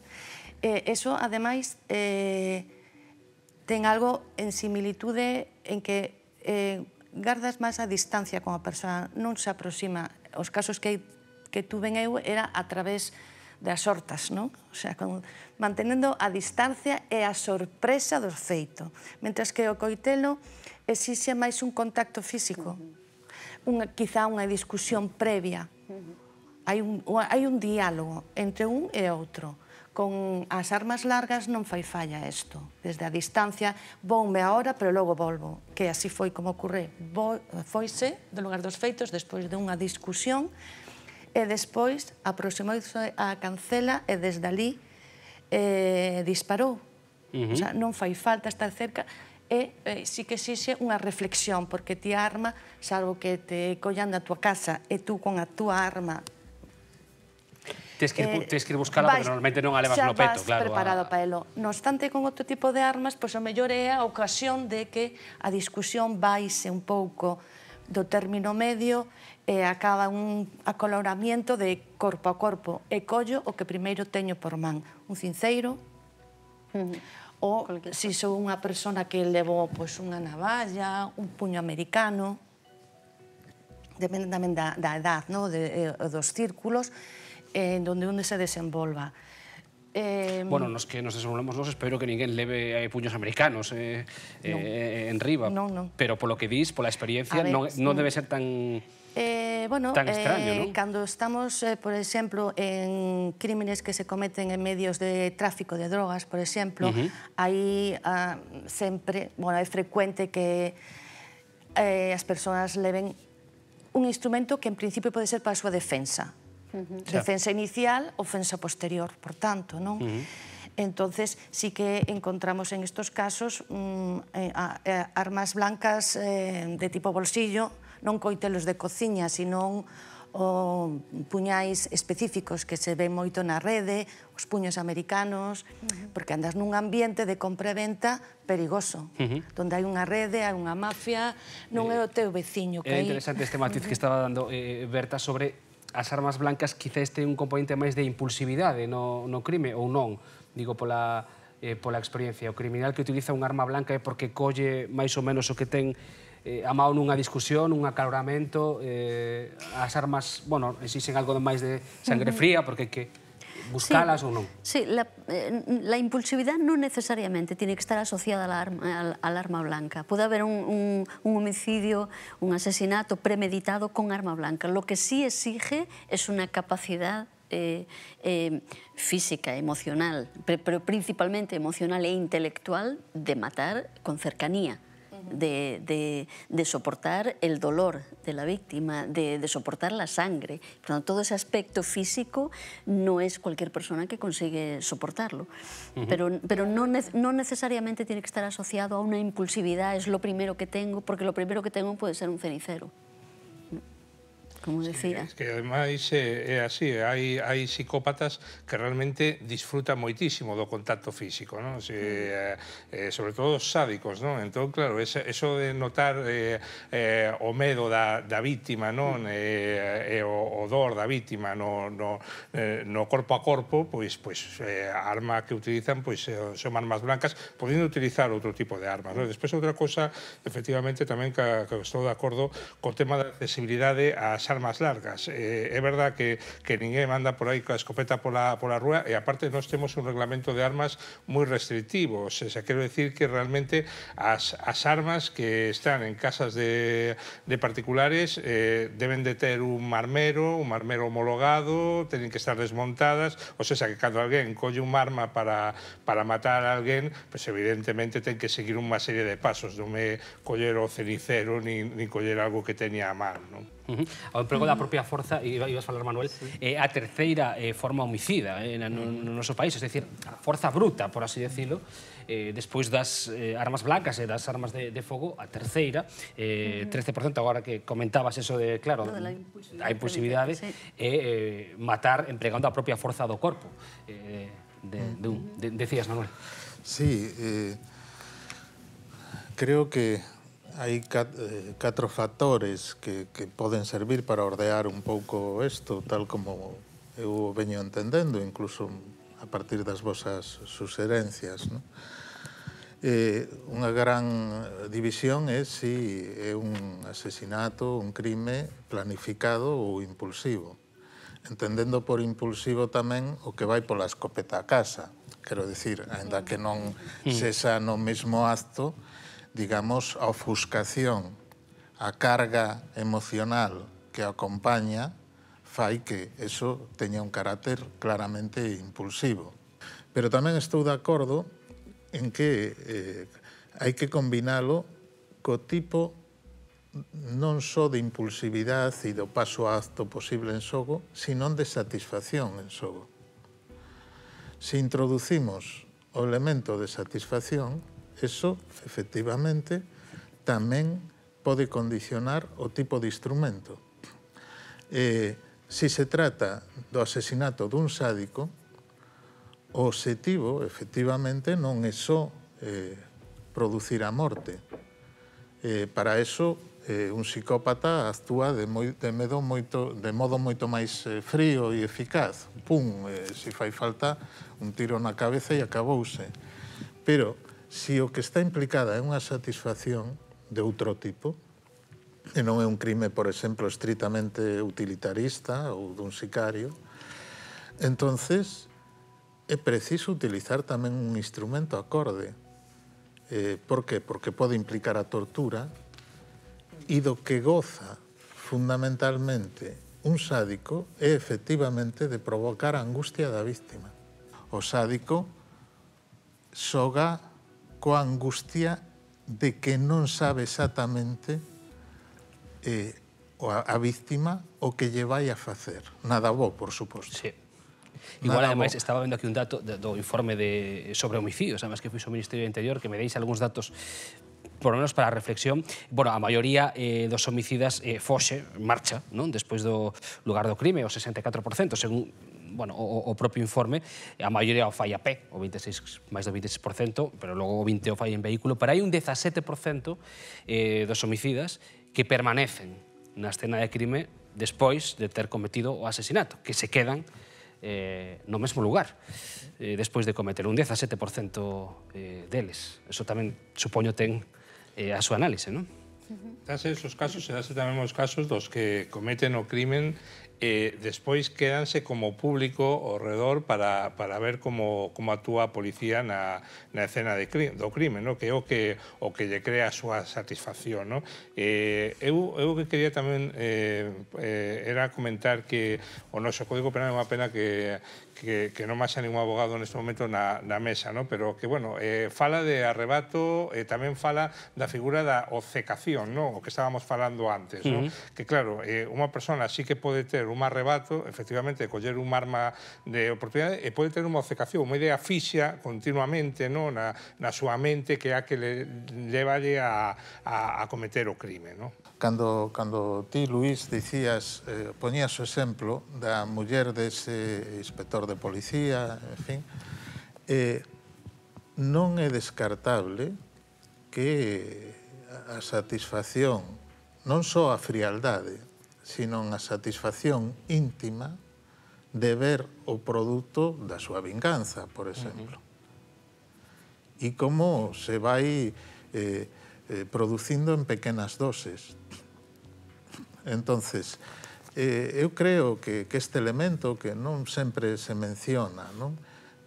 Eh, eso, ademais, eh, ten algo en similitude en que eh, gardas máis a distancia con a persoa, non se aproxima. Os casos que, que tuven eu era a través das hortas, non? O sea, con, mantenendo a distancia e a sorpresa do feito. Mentras que o coitelo exixe máis un contacto físico, unha, quizá unha discusión previa. Hai un, hai un diálogo entre un e outro. Con as armas largas non fai falla isto. Desde a distancia, voume ahora, pero logo volvo. Que así foi como ocurre. Foise do lugar dos feitos despois de unha discusión e despois aproximouse a cancela e desde ali eh, disparou. Uh-huh. O sea, non fai falta estar cerca e eh, sí que exixe unha reflexión, porque ti a arma, salvo que te collan da tua casa e tú con a túa arma Tens que, eh, tes que ir buscala porque normalmente non a levas no peto, claro. Xa vas preparado a... para elo. No obstante, con outro tipo de armas, pois o mellor é a ocasión de que a discusión vaise un pouco do término medio e acaba un acoloramento de corpo a corpo. E collo o que primeiro teño por man. Un cinceiro, uh-huh. ou se sou unha persona que levou pois, unha navalla, un puño americano, depende tamén da, da edad, no? de, de, dos círculos, en donde onde se desenvolva. Eh, bueno, nos que nos desenvolvemos nos espero que ninguén leve eh, puños americanos eh, no. eh, en riba, no, no. pero polo que dis, pola experiencia, ver, non, sí. non debe ser tan... Eh, bueno, tan extraño, eh, ¿no? Cando estamos, eh, por exemplo, en crímenes que se cometen en medios de tráfico de drogas, por exemplo, uh-huh. aí ah, sempre, bueno, é frecuente que eh, as persoas leven un instrumento que en principio pode ser para a súa defensa. Uh-huh. Defensa inicial, ofensa posterior, por tanto, non? Uh-huh. Entonces, sí que encontramos en estos casos mm, eh, a, a, armas blancas eh, de tipo bolsillo, non coitelos de cociña, sino o puñais específicos que se ven moito na rede, os puños americanos, porque andas nun ambiente de compra e venta perigoso, donde hai unha rede, hai unha mafia, non é o teu veciño que É hai... interesante este matiz que estaba dando Berta sobre as armas blancas, quizás ten un componente máis de impulsividade no crime ou non, digo, pola pola experiencia. O criminal que utiliza unha arma blanca é porque colle máis ou menos o que ten a mao nunha discusión, un acaloramento, as armas, bueno, exixen algo máis de sangre fría, porque hai que buscalas ou non. Sí, la impulsividad non necesariamente tiene que estar asociada al arma blanca. Puede haber un homicidio, un asesinato premeditado con arma blanca. Lo que sí exige es una capacidad física, emocional, pero principalmente emocional e intelectual de matar con cercanía. De, de, de soportar el dolor de la víctima, de, de soportar la sangre. Por tanto, todo ese aspecto físico no es cualquier persona que consigue soportarlo. Uh-huh. Pero, pero no, no necesariamente tiene que estar asociado a una impulsividad, es lo primero que tengo, porque lo primero que tengo puede ser un cenicero. Como decía. Sí, es que ademais é así, hai, hai psicópatas que realmente disfrutan moitísimo do contacto físico, non? Si, eh, eh, sobre todo os sádicos, non? Entón, claro, eso, eso de notar eh, eh, o medo da, da víctima, non? E, e o odor da víctima no, no, eh, no corpo a corpo, pois, pois eh, a arma que utilizan pois, eh, son armas blancas, podendo utilizar outro tipo de armas, non? Despois, outra cosa, efectivamente, tamén que, que estou de acordo co tema da accesibilidade ás armas largas. Eh, é verdad que, que ninguén anda por aí coa escopeta pola, pola rúa e aparte nós temos un reglamento de armas moi restrictivo. O sea, quero decir que realmente as, as armas que están en casas de, de particulares eh, deben de ter un marmero, un marmero homologado, teñen que estar desmontadas, o sea, que cando alguén colle un arma para, para matar a alguén, pues evidentemente ten que seguir unha serie de pasos, non me coller o cenicero ni, ni coller algo que teña a man, non? Uh -huh. O emprego da propia forza, e ibas a falar, Manuel, é a terceira forma homicida no noso país, é dicir, a forza bruta, por así decirlo, despois das armas blancas e das armas de fogo, a terceira, trece por cento, agora que comentabas eso de, claro, a impulsividade, é matar empregando a propia forza do corpo. Decías, Manuel. Sí, creo que hai catro factores que, que poden servir para ordear un pouco isto, tal como eu veño entendendo, incluso a partir das vosas suxerencias. No? Eh, unha gran división é se é un asesinato, un crime planificado ou impulsivo. Entendendo por impulsivo tamén o que vai pola escopeta a casa. Quero dicir, ainda que non sexa no mesmo acto, digamos, a ofuscación, a carga emocional que acompaña fai que eso teña un carácter claramente impulsivo. Pero tamén estou de acordo en que eh, hai que combinalo co tipo non só de impulsividade e do paso a acto posible en xogo, sino de satisfacción en xogo. Se introducimos o elemento de satisfacción, eso, efectivamente, tamén pode condicionar o tipo de instrumento. Eh, se se trata do asesinato dun sádico, o obxectivo, efectivamente, non é só eh, producir a morte. Eh, para eso, eh, un psicópata actúa de, moi, de, medo moito, de modo moito máis eh, frío e eficaz. Pum, eh, se fai falta un tiro na cabeza e acabouse. Pero se o que está implicada é unha satisfacción de outro tipo, e non é un crime, por exemplo, estritamente utilitarista ou dun sicario, entonces é preciso utilizar tamén un instrumento acorde. Eh, por que? Porque pode implicar a tortura e do que goza fundamentalmente un sádico é efectivamente de provocar a angustia da víctima. O sádico xoga coa angustia de que non sabe exactamente eh, a, a víctima o que lle vai a facer. Nada bo, por suposto. Sí. Igual, Nada ademais, bo. Estaba vendo aquí un dato de, do informe de, sobre homicidios, además que fui ao Ministerio do Interior, que me deis algúns datos por lo menos para a reflexión, bueno, a maioría eh, dos homicidas eh, foxe, marcha, non? Despois do lugar do crime, o sesenta e catro por cento, según bueno, o, o propio informe, a maioría o fai a pé, o veintiséis, máis do veintiséis por cento, pero logo o vinte por cento o fai en vehículo, pero hai un dezasete por cento eh, dos homicidas que permanecen na escena de crime despois de ter cometido o asesinato, que se quedan eh, no mesmo lugar eh, despois de cometer un dezasete por cento eh, deles. Eso tamén, supoño, ten eh, a súa análise, non? Dase esos casos, e dase tamén os casos dos que cometen o crimen e despois quédanse como público ao redor para, para ver como, como actúa a policía na, na escena de cri, do crime, no? Que é o que, o que lle crea a súa satisfacción. No? Eh, eu, eu que quería tamén eh, eh, era comentar que o noso Código Penal é unha pena que que, que non máis a ningún abogado neste momento na, na mesa, no? Pero que, bueno, eh, fala de arrebato e eh, tamén fala da figura da obcecación, no? O que estábamos falando antes, no? Uh-huh. Que, claro, eh, unha persona sí que pode ter un arrebato, efectivamente, de coller un arma de oportunidade e pode ter unha obcecación, unha idea fixa continuamente, no? Na, na súa mente que é a que le levalle a, a, a cometer o crime, no? Cando, cando ti, Luís, dicías, eh, poñías o exemplo da muller dese inspector de policía, en fin, eh, non é descartable que a satisfacción, non só a frialdade, sino a satisfacción íntima de ver o produto da súa vinganza, por exemplo. Uh-huh. E como se vai eh, eh, producindo en pequenas doses. Entonces, eh, eu creo que, que este elemento que non sempre se menciona, non?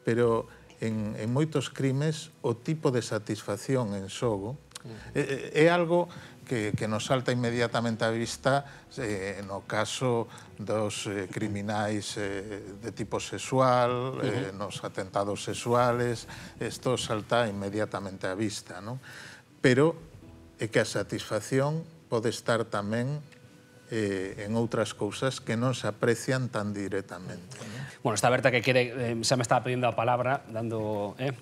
Pero en, en moitos crimes o tipo de satisfacción en xogo é, é algo que, que nos salta inmediatamente á vista eh, no caso dos eh, criminais eh, de tipo sexual, eh, nos atentados sexuales, isto salta inmediatamente á vista, non? Pero é que a satisfacción pode estar tamén eh, en outras cousas que non se aprecian tan directamente. ¿No? Bueno, está Berta que quere, eh, xa me estaba pedindo a palabra, dando eh,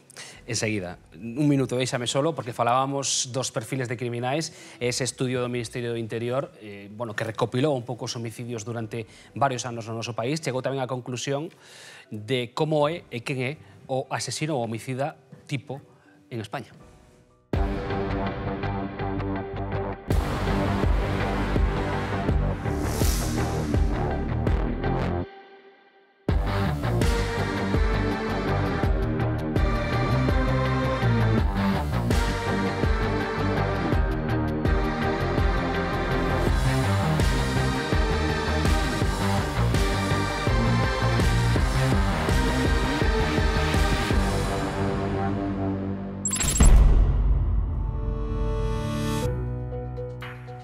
enseguida. Un minuto, déixame solo, porque falábamos dos perfiles de criminais, ese estudio do Ministerio do Interior, eh, bueno, que recopilou un pouco os homicidios durante varios anos no noso país, chegou tamén á conclusión de como é e quen é o asesino ou homicida tipo en España.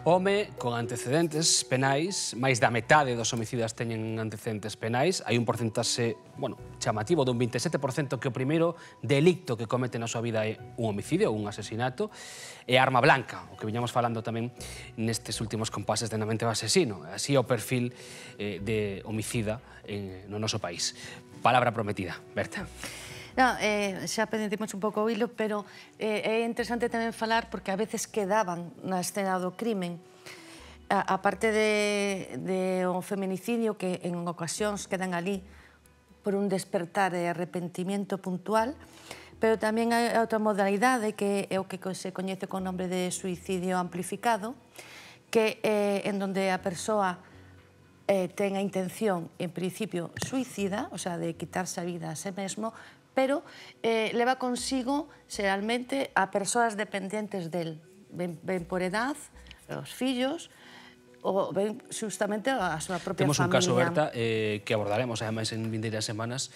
Home con antecedentes penais, máis da metade dos homicidas teñen antecedentes penais, hai un porcentaxe, bueno, chamativo dun veintisiete por cento que o primeiro delicto que comete na súa vida é un homicidio ou un asesinato, e arma blanca, o que viñamos falando tamén nestes últimos compases de Na mente do asesino. Así é o perfil eh, de homicida eh, no noso país. Palabra prometida, Berta. No, eh, xa perdemos un pouco o hilo, pero eh, é interesante tamén falar porque a veces quedaban na escena do crimen. A, a parte de, de un feminicidio que en ocasións quedan ali por un despertar de arrepentimiento puntual, pero tamén hai outra modalidade que é o que se coñece con nombre de suicidio amplificado, que é en donde a persoa eh, ten a intención, en principio, suicida, o sea, de quitarse a vida a sí mesmo, pero eh, leva consigo, xeralmente, a persoas dependentes del. Ben, ben por edad, os fillos, ou ben justamente a súa propia Temos familia. Temos un caso, Berta, eh, que abordaremos, ademais, en vindeiras semanas,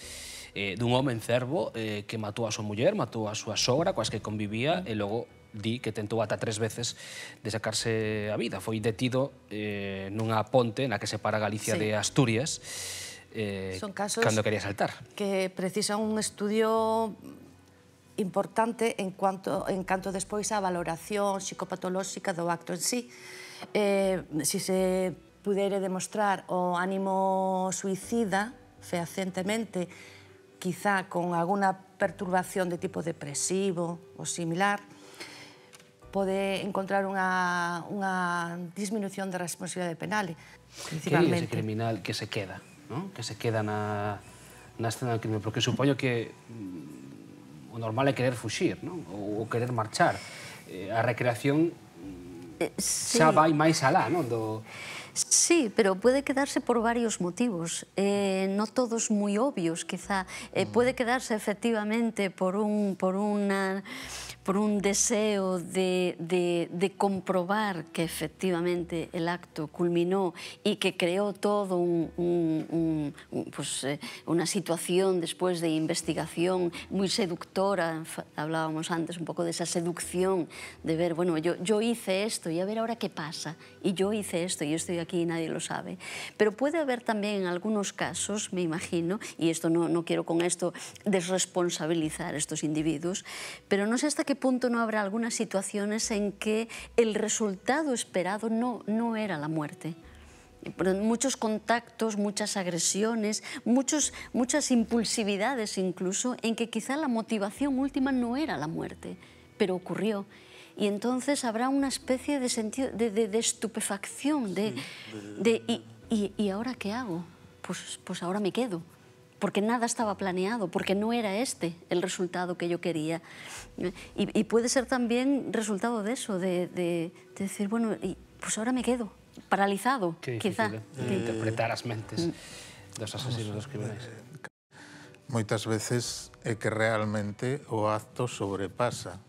eh, dun home en Cervo eh, que matou a súa muller, matou a súa sogra, coas que convivía, mm. e logo di que tentou ata tres veces de sacarse a vida. Foi detido eh, nunha ponte na que separa Galicia sí. de Asturias, Eh, Son casos cando quería saltar. Que precisan un estudio importante en cuanto en canto despois a valoración psicopatolóxica do acto en sí. Eh, si se pudere demostrar o ánimo suicida fehacientemente, quizá con alguna perturbación de tipo depresivo ou similar, pode encontrar unha, unha disminución da responsabilidade penal, principalmente. Que é ese criminal que se queda, ¿no? Que se queda na, na escena del crimen? Porque supoño que mm, o normal é querer fuxir, ¿no? Ou, ou querer marchar. Eh, a recreación eh, sí. xa vai máis alá, ¿no? Do... Sí, pero puede quedarse por varios motivos, eh, no todos muy obvios, quizá. Eh, puede quedarse efectivamente por un, por una, por un deseo de, de, de comprobar que efectivamente el acto culminó y que creó todo un, un, un, un, pues, eh, una situación después de investigación muy seductora. Hablábamos antes un poco de esa seducción, de ver, bueno, yo, yo hice esto y a ver ahora qué pasa. Y yo hice esto y yo estoy aquí y nadie lo sabe. Pero puede haber también en algunos casos, me imagino, y esto no, no quiero con esto desresponsabilizar a estos individuos, pero no sé hasta qué punto no habrá algunas situaciones en que el resultado esperado no, no era la muerte. Muchos contactos, muchas agresiones, muchos, muchas impulsividades incluso, en que quizá la motivación última no era la muerte, pero ocurrió. Y entonces habrá una especie de sentido de, de, de estupefacción, de, de y, y, ¿y ahora qué hago? Pues, pues ahora me quedo, porque nada estaba planeado, porque no era este el resultado que yo quería. Y, y puede ser también resultado de eso, de, de, de decir, bueno, y, pues ahora me quedo, paralizado, Qué quizá. difícil, eh? Interpretar as mentes dos asesinos dos criminais. Moitas veces é que realmente o acto sobrepasa.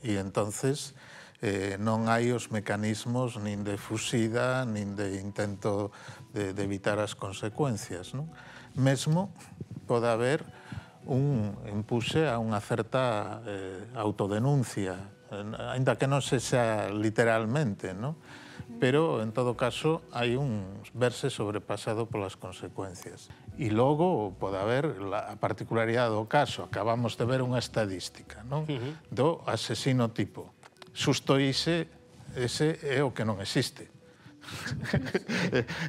E entonces eh, non hai os mecanismos nin de fuxida, nin de intento de, de evitar as consecuencias, non? Mesmo pode haber un empuxe a unha certa eh, autodenuncia, ainda que non se xa literalmente, non? Pero, en todo caso, hai un verse sobrepasado polas consecuencias. E logo pode haber a particularidade do caso. Acabamos de ver unha estadística, non? Uh-huh. Do asesino tipo. Susto ise, ese é o que non existe.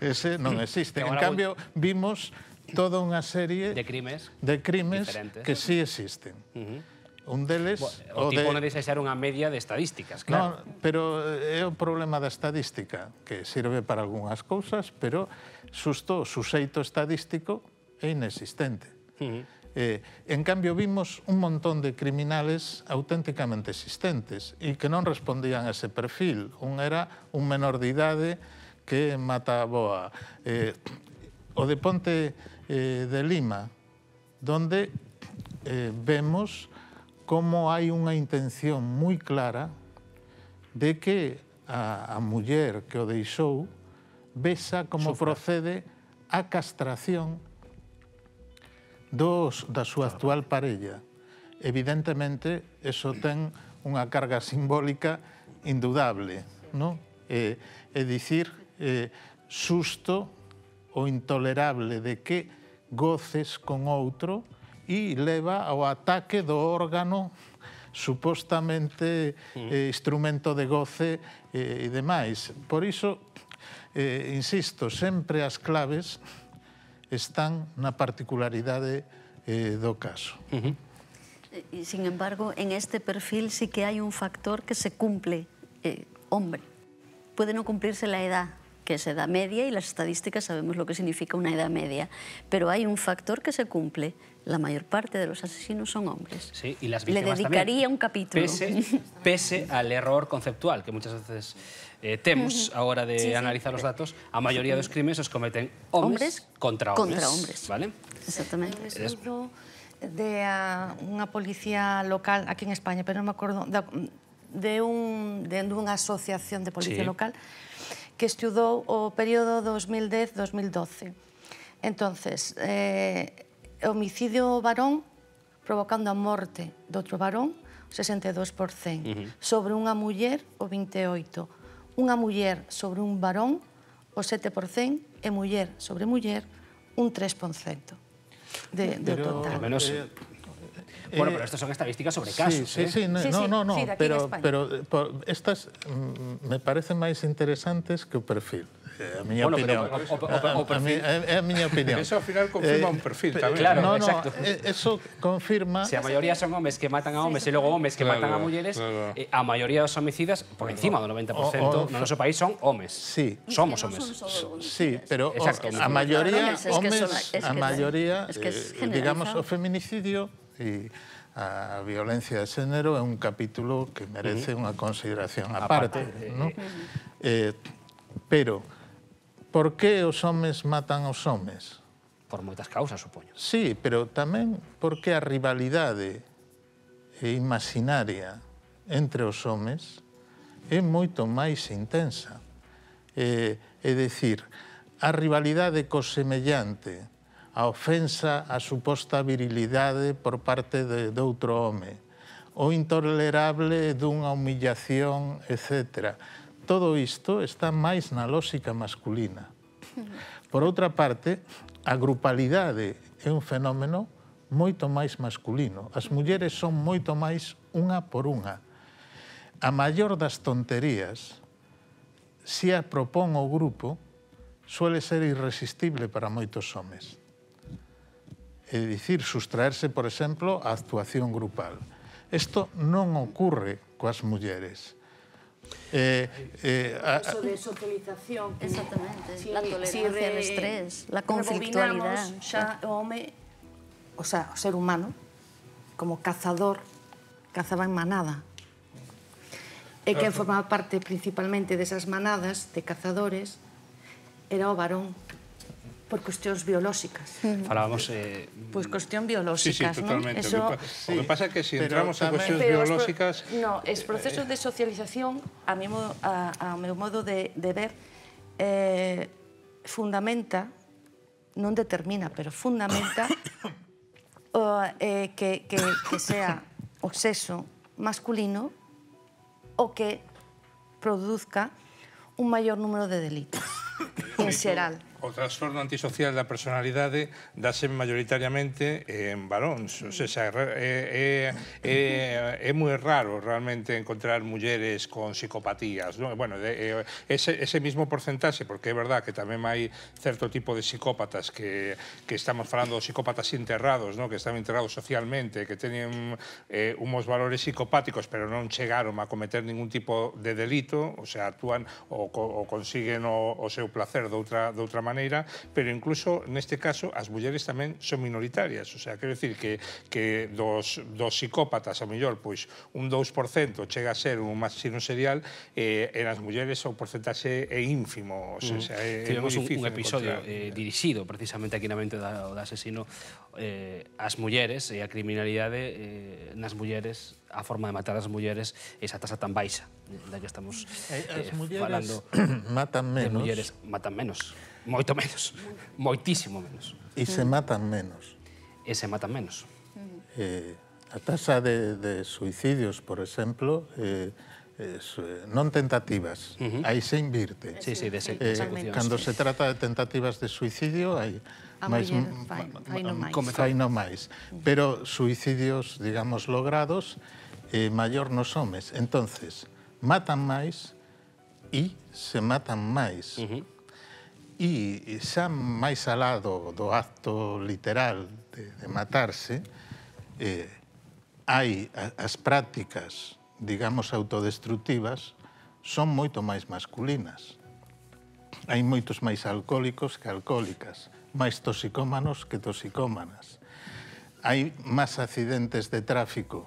Ese non existe. En cambio, vimos toda unha serie de crimes, de crimes diferentes que sí existen. Uh-huh. Un deles... O, o tipo de... non deixa ser unha media de estadísticas, claro. No, pero é o problema da estadística, que sirve para algunhas cousas, pero susto o suxeito estadístico é inexistente. Uh-huh. eh, en cambio, vimos un montón de criminales auténticamente existentes e que non respondían a ese perfil. Un era un menor de idade que mata a boa. Eh, o de Ponte eh, de Lima, donde eh, vemos como hai unha intención moi clara de que a, a muller que o deixou vexa como Sofra. procede a castración dos, da súa actual parella. Evidentemente, eso ten unha carga simbólica indudable, non? É, é dicir, é, susto o intolerable de que goces con outro e leva ao ataque do órgano supostamente eh, instrumento de goce eh, e demais. Por iso, eh, insisto, sempre as claves están na particularidade eh, do caso. Uh-huh. Y, sin embargo, en este perfil sí que hay un factor que se cumple, eh, hombre. Puede no cumplirse la edad, que es edad media, y las estadísticas sabemos lo que significa una edad media, pero hay un factor que se cumple. La mayor parte de los asesinos son hombres. Sí, y las Le víctimas dedicaría también, un capítulo. Pese, pese al error conceptual que muchas veces eh, temos a hora de sí, analizar sí. os datos, a maioría dos crimes os cometen hombres, hombres contra hombres. Contra hombres. ¿Vale? Exactamente. Un estudo de uh, unha policía local aquí en España, pero non me acordo, de, de, un, de unha asociación de policía sí. local que estudou o período dos mil dez a dos mil doce. Entonces, eh, homicidio varón provocando a morte de outro varón, o sesenta e dous por cento. Uh-huh. Sobre unha muller, o vinte e oito por cento. Unha muller sobre un varón, o sete por cento. E muller sobre muller, un tres por cento de, de pero, total. Menos... Eh, bueno, pero estas son estadísticas sobre casos, sí, ¿eh? Sí, sí, no, sí, no, no, no sí, pero, pero por, estas mm, me parecen máis interesantes que o perfil. a miña opinión. É a miña opinión. Eso, ao final, confirma un perfil tamén. Claro, no, no, exacto. Eso confirma... Se a maioría son homes que matan a homes e logo homes que matan a mulleres, a maioría dos homicidas, por encima do noventa por cento, no noso país son homes. Sí. Somos homes. Sí, pero a maioría, homes, a maioría, digamos, o feminicidio e a violencia de xénero é un capítulo que merece unha consideración aparte, non? Pero, por que os homes matan aos homes? Por moitas causas, supoño. Sí, pero tamén porque a rivalidade imaginaria entre os homes é moito máis intensa. É dicir, a rivalidade co semellante, a ofensa á suposta virilidade por parte de outro home, o intolerable dunha humillación, etcétera. Todo isto está máis na lógica masculina. Por outra parte, a grupalidade é un fenómeno moito máis masculino. As mulleres son moito máis unha por unha. A maior das tonterías, se a propón o grupo, suele ser irresistible para moitos homes. É dicir, sustraerse, por exemplo, a actuación grupal. Isto non ocurre coas mulleres. Eh, eh, a, Eso de socialización. Exactamente. Si, la tolerancia si al estrés, la conflictualidad. Xa o home, o sea, o ser humano, como cazador, cazaba en manada. E quen formaba parte principalmente desas manadas de cazadores era o varón, por cuestións biolóxicas. Falábamos... Eh... Pois cuestión biolóxicas, sí, sí, totalmente. Eso... O que pasa é que se entramos en cuestións biolóxicas... No, os procesos de socialización, a ao meu modo de ver, fundamenta, non determina, pero fundamenta que sea o sexo masculino o que produzca un maior número de delitos, en xeral. O trastorno antisocial da personalidade dáse maioritariamente en varóns. O sea, é, é, é moi raro realmente encontrar mulleres con psicopatías, ¿no? Bueno, de, ese, ese mismo porcentaxe, porque é verdad que tamén hai certo tipo de psicópatas que, que estamos falando de psicópatas enterrados, ¿no? Que están enterrados socialmente, que teñen eh, uns valores psicopáticos, pero non chegaron a cometer ningún tipo de delito, o sea, actúan ou, ou consiguen o, o seu placer de outra, de outra maneira, pero incluso neste caso as mulleres tamén son minoritarias, o sea, quero dicir que, que dos, dos psicópatas, a mellor, pois un dous por cento chega a ser un asesino serial, eh, e nas mulleres o porcentaxe é ínfimo, o sea, mm. é, é moi difícil un episodio eh, dirixido precisamente aquí na mente da, da asesino eh, as mulleres e a criminalidade eh, nas mulleres, a forma de matar as mulleres, esa tasa tan baixa da que estamos eh, as mulleres falando. Matan menos. As mulleres matan menos. Moito menos, moitísimo menos. E se matan menos. E se matan menos. Eh, a tasa de, de suicidios, por exemplo, eh, eh, non tentativas, uh -huh. aí se invirte. Sí, sí, de eh, cando se trata de tentativas de suicidio, hai máis, fai no máis. Pero suicidios, digamos, logrados, eh, maior nos homes. Entonces, matan máis e se matan máis. Uh -huh. E xa máis alá do, do acto literal de, de matarse, eh, hai as prácticas, digamos, autodestructivas, son moito máis masculinas. Hai moitos máis alcohólicos que alcohólicas, máis toxicómanos que toxicómanas. Hai máis accidentes de tráfico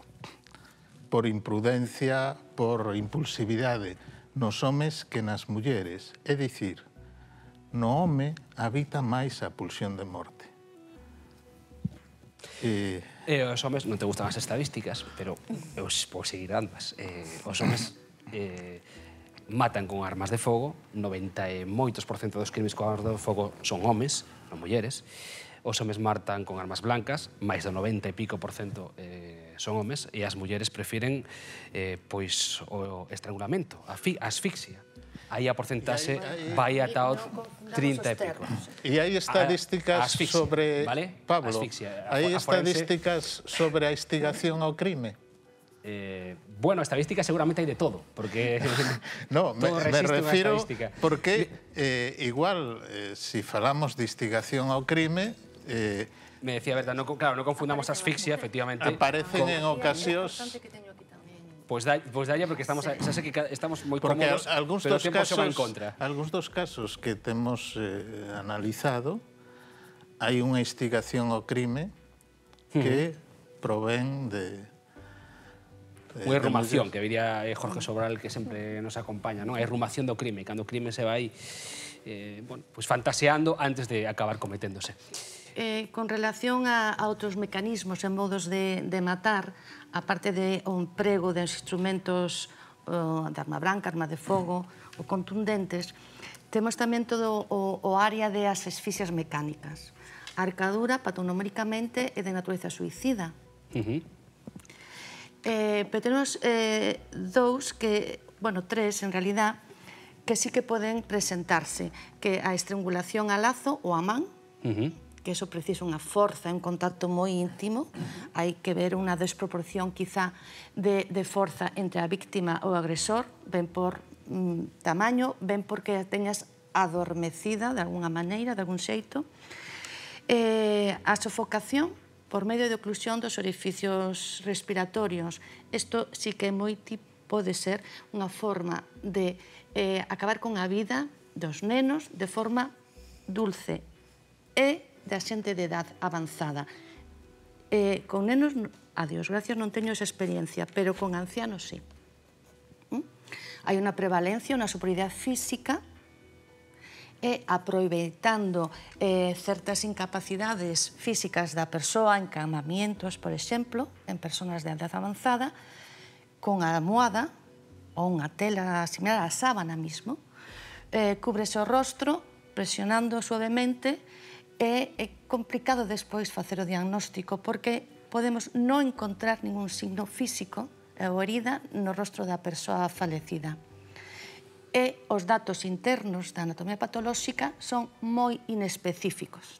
por imprudencia, por impulsividade, nos homes que nas mulleres. É dicir, no home habita máis a pulsión de morte. E... E os homes, non te gustan as estadísticas, pero eu vou seguir ambas. Eh, os homes eh, matan con armas de fogo, noventa e moitos por cento dos crimes con armas de fogo son homes, non mulleres. Os homes matan con armas blancas, máis do noventa e pico por cento eh, son homes, e as mulleres prefiren eh, pois, o estrangulamento, a asfixia. Aí a porcentaxe vai ata o trinta e pico. E hai estadísticas sobre... Pablo, hai estadísticas sobre a instigación ao crime? Eh, bueno, estadística seguramente hai de todo, porque no, me, todo me resiste unha refiro estadística. Porque eh, igual, eh, si falamos de instigación ao crime, eh, me decía Berta, no, claro, non confundamos asfixia, efectivamente. Aparecen con... en ocasións... Pois da, pues dalle, porque estamos, xa sei que estamos moi porque cómodos, algúns pero o dos tempo casos, xoga en contra. Algúns dos casos que temos eh, analizado, hai unha instigación ao crime que provén de... Unha errumación, que diría Jorge Sobral, que sempre nos acompaña, non? A errumación do crime, cando o crime se vai eh, bueno, pues fantaseando antes de acabar cometéndose. Eh, con relación a, a outros mecanismos e modos de, de matar, aparte de o emprego de instrumentos uh, de arma branca, arma de fogo ou contundentes, temos tamén todo o, o área de as asfixias mecánicas. A arcadura, patognoméricamente, é de natureza suicida. Uh-huh. Eh, pero temos eh, dous que, bueno, tres en realidad, que sí que poden presentarse, que a estrangulación a lazo ou a man, uh-huh. que eso precisa unha forza, un contacto moi íntimo, uh-huh. hai que ver unha desproporción quizá de, de forza entre a víctima ou o agresor, ben por mm, tamaño, ben porque a teñas adormecida de alguna maneira, de algún xeito. Eh, a sofocación, por medio de oclusión dos orificios respiratorios. Isto sí que moi pode ser unha forma de eh, acabar con a vida dos nenos de forma dulce e da xente de edad avanzada. Eh, con nenos, a Dios gracias, non teño esa experiencia, pero con ancianos sí. ¿Mm? Hai unha prevalencia, unha superioridade física e aproveitando eh, certas incapacidades físicas da persoa, encamamientos, por exemplo, en persoas de edad avanzada, con a almohada ou unha tela similar á sábana mismo, eh, cúbrese o rostro, presionando suavemente, e é complicado despois facer o diagnóstico, porque podemos non encontrar ningún signo físico ou herida no rostro da persoa falecida. E os datos internos da anatomía patolóxica son moi inespecíficos.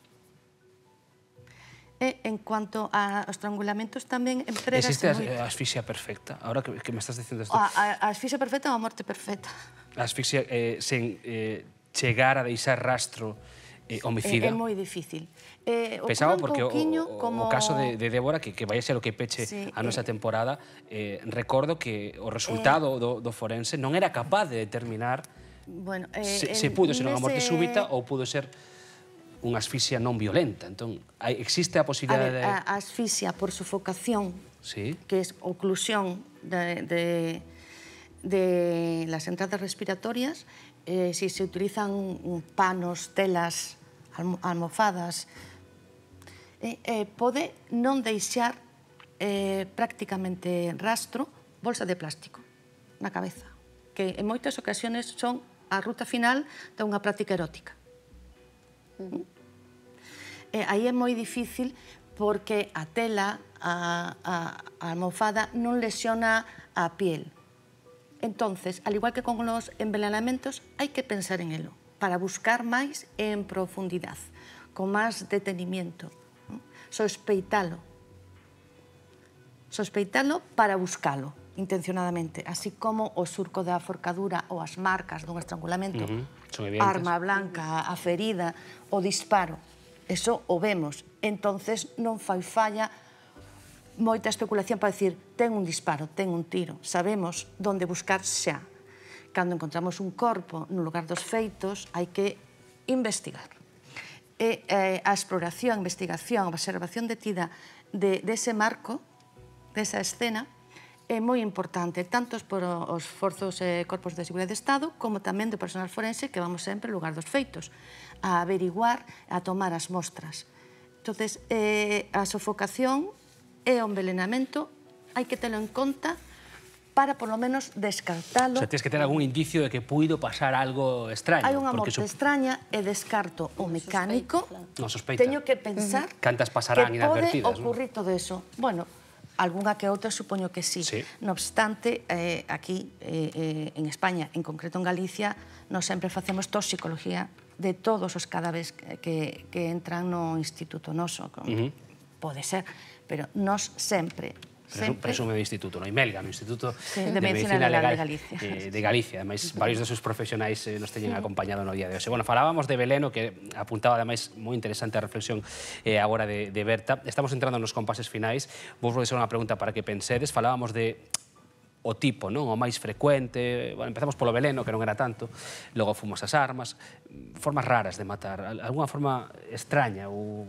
E en cuanto aos estrangulamentos tamén empregase existe moi... Existe a asfixia perfecta? Ahora que, que me estás dicindo isto. A, a, a asfixia perfecta ou a morte perfecta? A asfixia eh, sen eh, chegar a deixar rastro eh, homicida. É, é moi difícil. Eh, Pensaba porque o, o, como... o caso de, de Débora, que, que vai a ser o que peche sí, a nosa eh... temporada, eh, recordo que o resultado eh... do, do forense non era capaz de determinar bueno, eh, se, se pudo ser unha morte súbita ou pudo ser unha asfixia non violenta. Entón, hai, existe a posibilidade a ver, de... A asfixia por sufocación, sí, que é oclusión de, de, de las entradas respiratorias, eh, si se utilizan panos, telas, almofadas, eh, eh, pode non deixar eh, prácticamente rastro bolsa de plástico na cabeza, que en moitas ocasións son a ruta final de unha práctica erótica. Uh-huh. eh, aí é moi difícil porque a tela, a, a, a almofada non lesiona a piel. Entonces, al igual que con los envenenamentos, hai que pensar en elo para buscar máis en profundidade, con máis detenimiento. Sospeitalo. Sospeitalo para buscalo, intencionadamente, así como o surco da forcadura ou as marcas dun estrangulamento, uh-huh. arma blanca, a ferida, o disparo. Eso o vemos. Entonces non fai falla moita especulación para dicir ten un disparo, ten un tiro. Sabemos onde buscar xa. Cando encontramos un corpo no lugar dos feitos, hai que investigar. E eh, a exploración, a investigación, a observación detida de, de ese marco, desa escena, é moi importante, tanto por os forzos e corpos de seguridade de Estado, como tamén do personal forense que vamos sempre ao lugar dos feitos, a averiguar, a tomar as mostras. Entonces, eh, a sofocación e o envenenamento hai que telo en conta para, por lo menos, descartalo. O sea, tens que ter algún indicio de que puido pasar algo extraño. Hai unha morte extraña e descarto o mecánico. Non sospeita. Teño que pensar cantas pasarán inadvertidas, que pode ocurrir todo eso. Bueno, algunha que outra supoño que sí. No obstante, eh, aquí eh, en España, en concreto en Galicia, nos sempre facemos toxicología de todos os cadáveres que, que entran no instituto noso. Uh-huh. Pode ser, pero nos sempre presume do Instituto, no Imelga, no Instituto de Medicina Legal de Galicia. De Galicia, ademais, varios dos seus profesionais nos teñen acompañado no día de hoxe. Bueno, falábamos de Beleno, que apuntaba, ademais, moi interesante a reflexión agora de Berta. Estamos entrando nos compases finais. Vos vou deixar unha pregunta para que pensedes. Falábamos de o tipo, non? O máis frecuente. Bueno, empezamos polo Beleno, que non era tanto, logo fomos as armas, formas raras de matar, alguna forma extraña, ou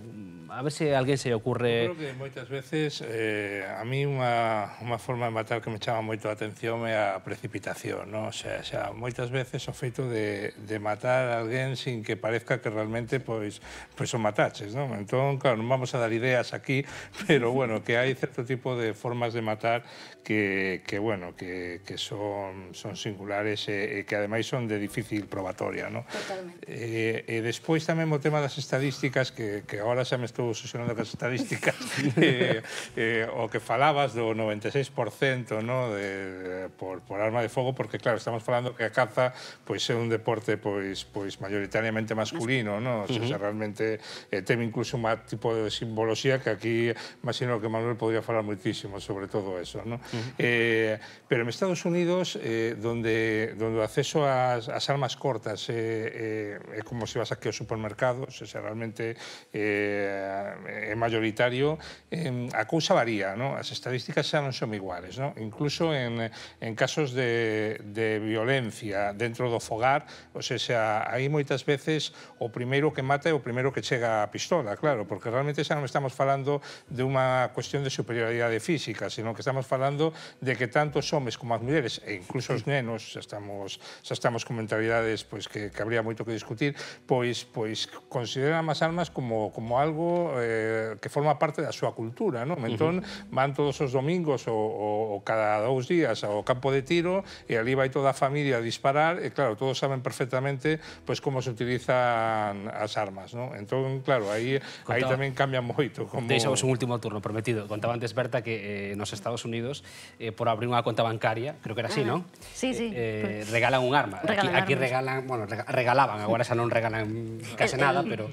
a ver se a alguén se lle ocurre... Eu creo que moitas veces, eh, a mí unha, unha forma de matar que me chama moito a atención é a precipitación, non? O sea, xa, moitas veces o feito de, de matar a alguén sin que parezca que realmente, pois, pois o mataches, non? Entón, claro, non vamos a dar ideas aquí, pero, bueno, que hai certo tipo de formas de matar que, que bueno, que, que son, son singulares e, e que ademais son de difícil probatoria, non? Totalmente. E, e despois tamén o tema das estadísticas, que, que agora xa me estou obsesionando com as estadísticas, e, e, o que falabas do noventa e seis por cento, no, de, por, por arma de fogo, porque claro, estamos falando que a caza pois, é un deporte pois, pois mayoritariamente masculino, no? O sea, uh -huh. realmente eh, ten incluso un tipo de simboloxía que aquí imagino que Manuel podría falar moitísimo sobre todo eso, no? Uh -huh. eh, pero en Estados Unidos, eh, donde, donde o acceso ás, ás armas cortas é, é, é como se vas aquí ao supermercado, o sea, realmente eh, é mayoritario, eh, a cousa varía, no? As estadísticas xa non son iguales, no? Incluso en, en casos de, de violencia dentro do fogar, o sea, aí moitas veces o primeiro que mata é o primeiro que chega a pistola, claro, porque realmente xa non estamos falando de unha cuestión de superioridade física, sino que estamos falando de que tanto os homes como as mulleres, e incluso os nenos, xa estamos, xa estamos con mentalidades pois, que, que habría moito que discutir, pois, pois consideran as armas como, como algo eh, que forma parte da súa cultura, non? Entón, van todos os domingos ou, ou, ou cada dous días ao campo de tiro e ali vai toda a familia a disparar e, claro, todos saben perfectamente pois, como se utilizan as armas, non? Entón, claro, aí, Contaba... aí tamén cambia moito. Como... Deixamos un último turno, prometido. Contaba antes, Berta, que eh, nos Estados Unidos, eh, por abrir unha conta bancaria, creo que era así, non? Sí, sí. Eh, regalan un arma. Regalan aquí, aquí regalan, bueno, regalaban, agora xa non regalan case nada, pero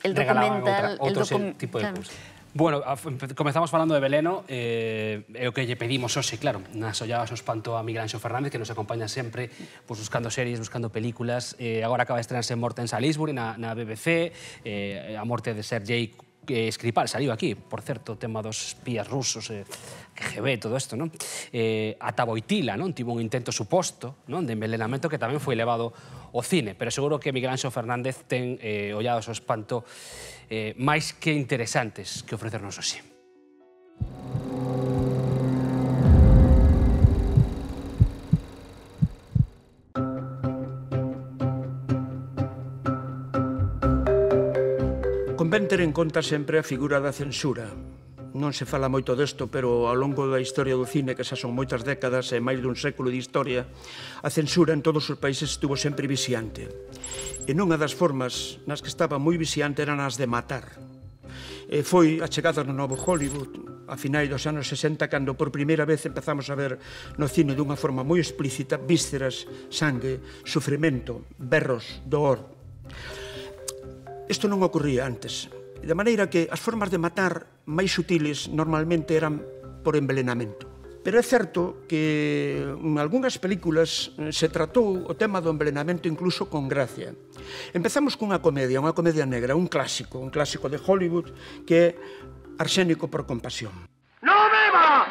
el regalaban documental, outra, outro el tipo de cousa. Bueno, comezamos falando de Beleno, eh, é o que lle pedimos hoxe, claro, nas olladas o espanto a Miguel Anxo Fernández, que nos acompaña sempre pues, buscando series, buscando películas. Eh, agora acaba de estrenarse Morte en Salisbury, na, na B B C, eh, a morte de Sergei eh, Skripal, saliu aquí, por certo, o tema dos espías rusos, eh, K G B, todo isto, non? Eh, ata Boitila, non? Tivo un intento suposto, non? De envenenamento que tamén foi levado ao cine, pero seguro que Miguel Anxo Fernández ten eh, ollados ao espanto eh, máis que interesantes que ofrecernos hoxe. Convén ter en conta sempre a figura da censura. Non se fala moito desto, pero ao longo da historia do cine, que xa son moitas décadas e máis dun século de historia, a censura en todos os países estuvo sempre viciante. E nunha das formas nas que estaba moi viciante eran as de matar. E foi a chegada no novo Hollywood, a finais dos anos sesenta, cando por primeira vez empezamos a ver no cine dunha forma moi explícita vísceras, sangue, sufrimento, berros, dor. Isto non ocorría antes. De maneira que as formas de matar máis sutiles normalmente eran por envenenamento. Pero é certo que en algunhas películas se tratou o tema do envenenamento incluso con gracia. Empezamos cunha comedia, unha comedia negra, un clásico, un clásico de Hollywood, que é Arsénico por compasión. ¡No beba!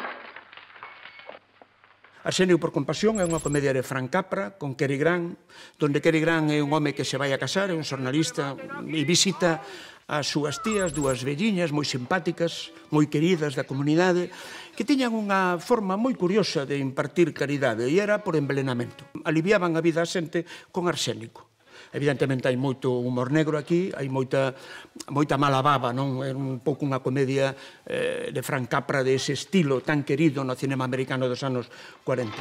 Arsénico por compasión é unha comedia de Frank Capra con Cary Grant, donde Cary Grant é un home que se vai a casar, é un xornalista e visita as súas tías, dúas velliñas moi simpáticas, moi queridas da comunidade, que tiñan unha forma moi curiosa de impartir caridade, e era por envenenamento. Aliviaban a vida a xente con arsénico. Evidentemente hai moito humor negro aquí, hai moita, moita mala baba, non? É un pouco unha comedia eh, de Frank Capra de ese estilo tan querido no cinema americano dos anos cuarenta.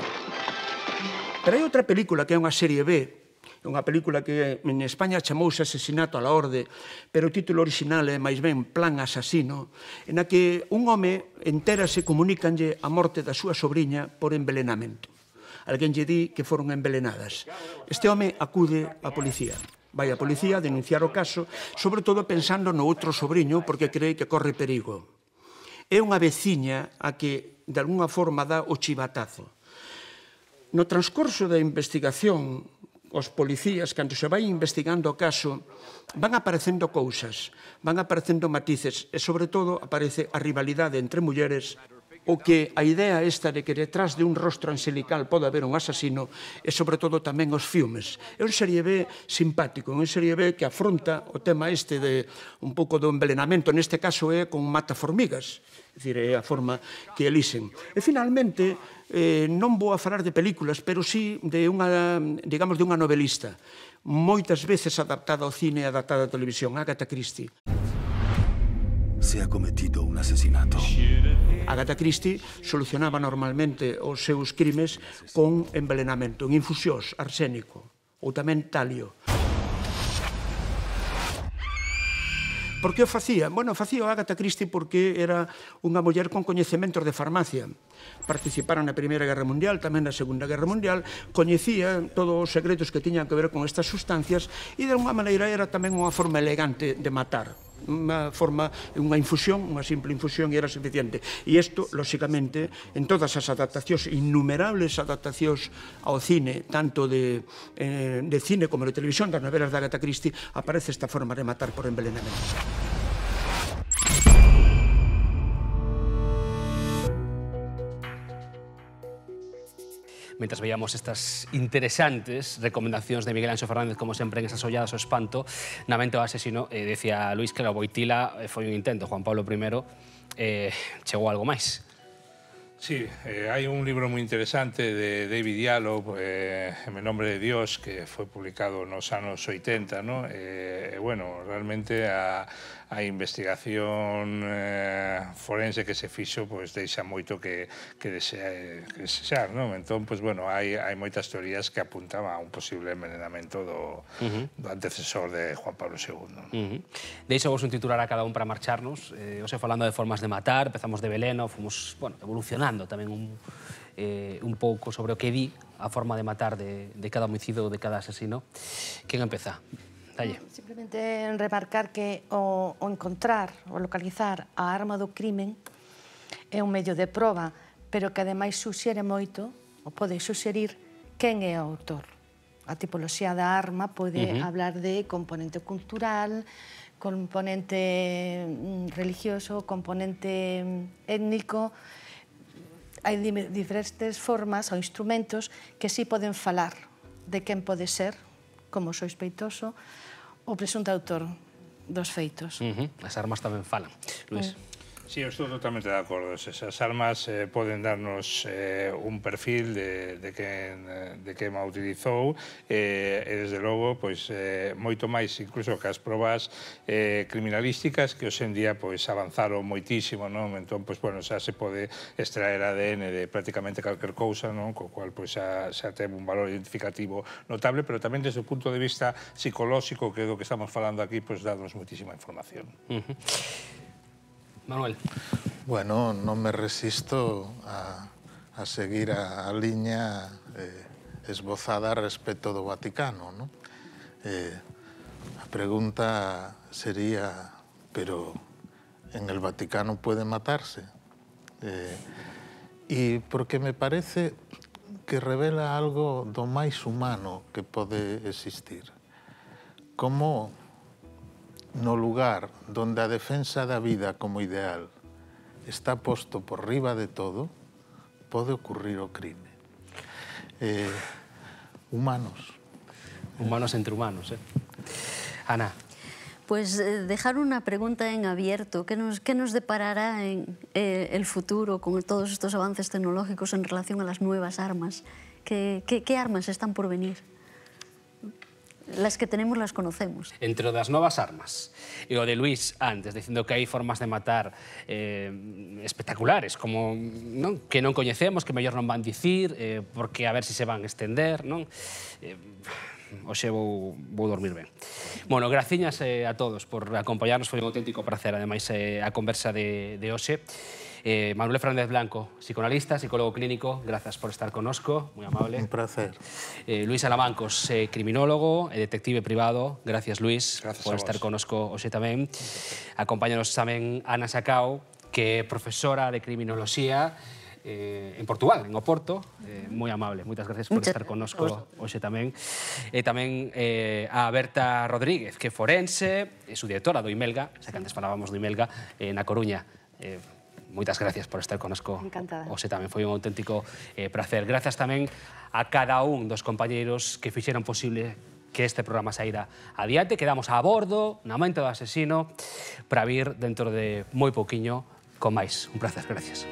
Pero hai outra película que é unha serie B, unha película que en España chamouse Asesinato a la Orde, pero o título original é máis ben Plan Asasino, en a que un home entérase, comunícanlle a morte da súa sobrinha por envenenamento. Alguén lle di que foron envenenadas. Este home acude á policía. Vai á policía a denunciar o caso, sobre todo pensando no outro sobrinho, porque cree que corre perigo. é unha veciña a que, de alguna forma, dá o chivatazo. No transcorso da investigación, os policías, cando se vai investigando o caso, van aparecendo cousas, van aparecendo matices, e, sobre todo, aparece a rivalidade entre mulleres, o que a idea esta de que detrás de un rostro angelical pode haber un asasino e, sobre todo, tamén os filmes. É un serie B simpático, é un serie B que afronta o tema este de un pouco do envelenamento, neste caso é con mataformigas, é dicir, é a forma que elixen. E, finalmente, eh, non vou a falar de películas, pero sí de unha, digamos, de unha novelista, moitas veces adaptada ao cine e adaptada á televisión, Agatha Christie. Se ha cometido un asesinato. Agatha Christie solucionaba normalmente os seus crimes con envelenamento, en infusións, arsénico ou tamén talio. Por que o facía? Bueno, facía o Agatha Christie porque era unha muller con coñecementos de farmacia. Participara na Primeira Guerra Mundial, tamén na Segunda Guerra Mundial, coñecía todos os secretos que tiñan que ver con estas sustancias e, de alguma maneira, era tamén unha forma elegante de matar. Unha forma, unha infusión, unha simple infusión e era suficiente. E isto, lóxicamente, en todas as adaptacións, innumerables adaptacións ao cine, tanto de, eh, de cine como de televisión, das novelas de Agatha Christie, aparece esta forma de matar por envenenamento. Mentras veíamos estas interesantes recomendacións de Miguel Anxo Fernández, como sempre, en esas olladas ao espanto, na mente o asesino, eh, decía Luís que a Boitila foi un intento, Juan Pablo primero, eh, chegou algo máis. Sí, eh, hai un libro moi interesante de David Diallo, eh, En nombre de Dios, que foi publicado nos anos oitenta, ¿no? E, eh, bueno, realmente a, a investigación eh, forense que se fixo, pues, deixa moito que, que desear, que desear, ¿no? Entón, pues, bueno, hai, hai moitas teorías que apuntan a un posible envenenamento do, uh-huh. do antecesor de Juan Pablo segundo. Uh-huh. Deixo vos un titular a cada un para marcharnos. Eh, ose falando de formas de matar, empezamos de veleno, fomos, bueno, evolucionando tamén un, eh, un pouco sobre o que di a forma de matar de, de cada homicidio ou de cada asesino. Quen empeza? Dalle. Simplemente remarcar que o, o encontrar, o localizar a arma do crimen é un medio de proba, pero que ademais suxere moito, ou pode suxerir, quen é o autor. A tipoloxía da arma pode uh-huh. hablar de componente cultural, componente religioso, componente étnico. Hai diferentes formas ou instrumentos que sí poden falar de quen pode ser, como sospeitoso, o presunto autor dos feitos. Uh-huh. As armas tamén falan. Luís. Uh. Sí, eu estou totalmente de acordo. Esas armas eh, poden darnos eh, un perfil de, de quen de quen a utilizou eh, e, desde logo, pois, eh, moito máis incluso que as probas eh, criminalísticas que hoxe en día pois, avanzaron moitísimo, non? Entón, pois, bueno, xa se pode extraer A D N de prácticamente calquer cousa, non? Co cual pois, xa, xa ten un valor identificativo notable, pero tamén desde o punto de vista psicolóxico, que é do que estamos falando aquí, pois, darnos moitísima información. Uh-huh. Manuel. Bueno, non me resisto a, a seguir a, a liña eh, esbozada respecto do Vaticano, ¿no? Eh, a pregunta sería, pero en el Vaticano puede matarse? Eh, e porque me parece que revela algo do máis humano que pode existir. Como no lugar donde a defensa da vida como ideal está posto por riba de todo, pode ocurrir o crime. Eh, humanos. Humanos entre humanos, eh? Ana. Pues eh, dejar una pregunta en abierto. ¿Qué nos, qué nos deparará en eh, el futuro con todos estos avances tecnológicos en relación a las nuevas armas? ¿Qué, qué, qué armas están por venir? Las que tenemos las conocemos. Entre das novas armas e o de Luís antes, dicindo que hai formas de matar eh, espectaculares, como non, que non coñecemos, que mellor non van dicir, eh, porque a ver se si se van estender, non? Eh, Oxe, vou, vou dormir ben. Bueno, graciñas eh, a todos por acompañarnos, foi un auténtico prazer, ademais, eh, a conversa de, de hoxe. Eh, Manuel Fernández Blanco, psicoanalista, psicólogo clínico, gracias por estar connosco, moi amable. Un placer. Eh, Luís Alamancos, eh, criminólogo e detective privado, gracias Luís gracias por estar connosco hoxe tamén. Acompáñanos tamén Ana Sacao, que é profesora de criminoloxía eh, en Portugal, en Oporto, eh, moi amable. Moitas gracias por estar connosco hoxe tamén. E tamén eh, a Berta Rodríguez, que é forense, é su directora do Imelga, xa que antes falábamos do Imelga, eh, na Coruña. Eh, moitas gracias por estar connosco. Encantada. Hoxe tamén foi un auténtico eh, placer. Grazas tamén a cada un dos compañeiros que fixeron posible que este programa saíra adiante. Quedamos a bordo, na mente do asesino, para vir dentro de moi pouquiño con máis. Un placer, gracias.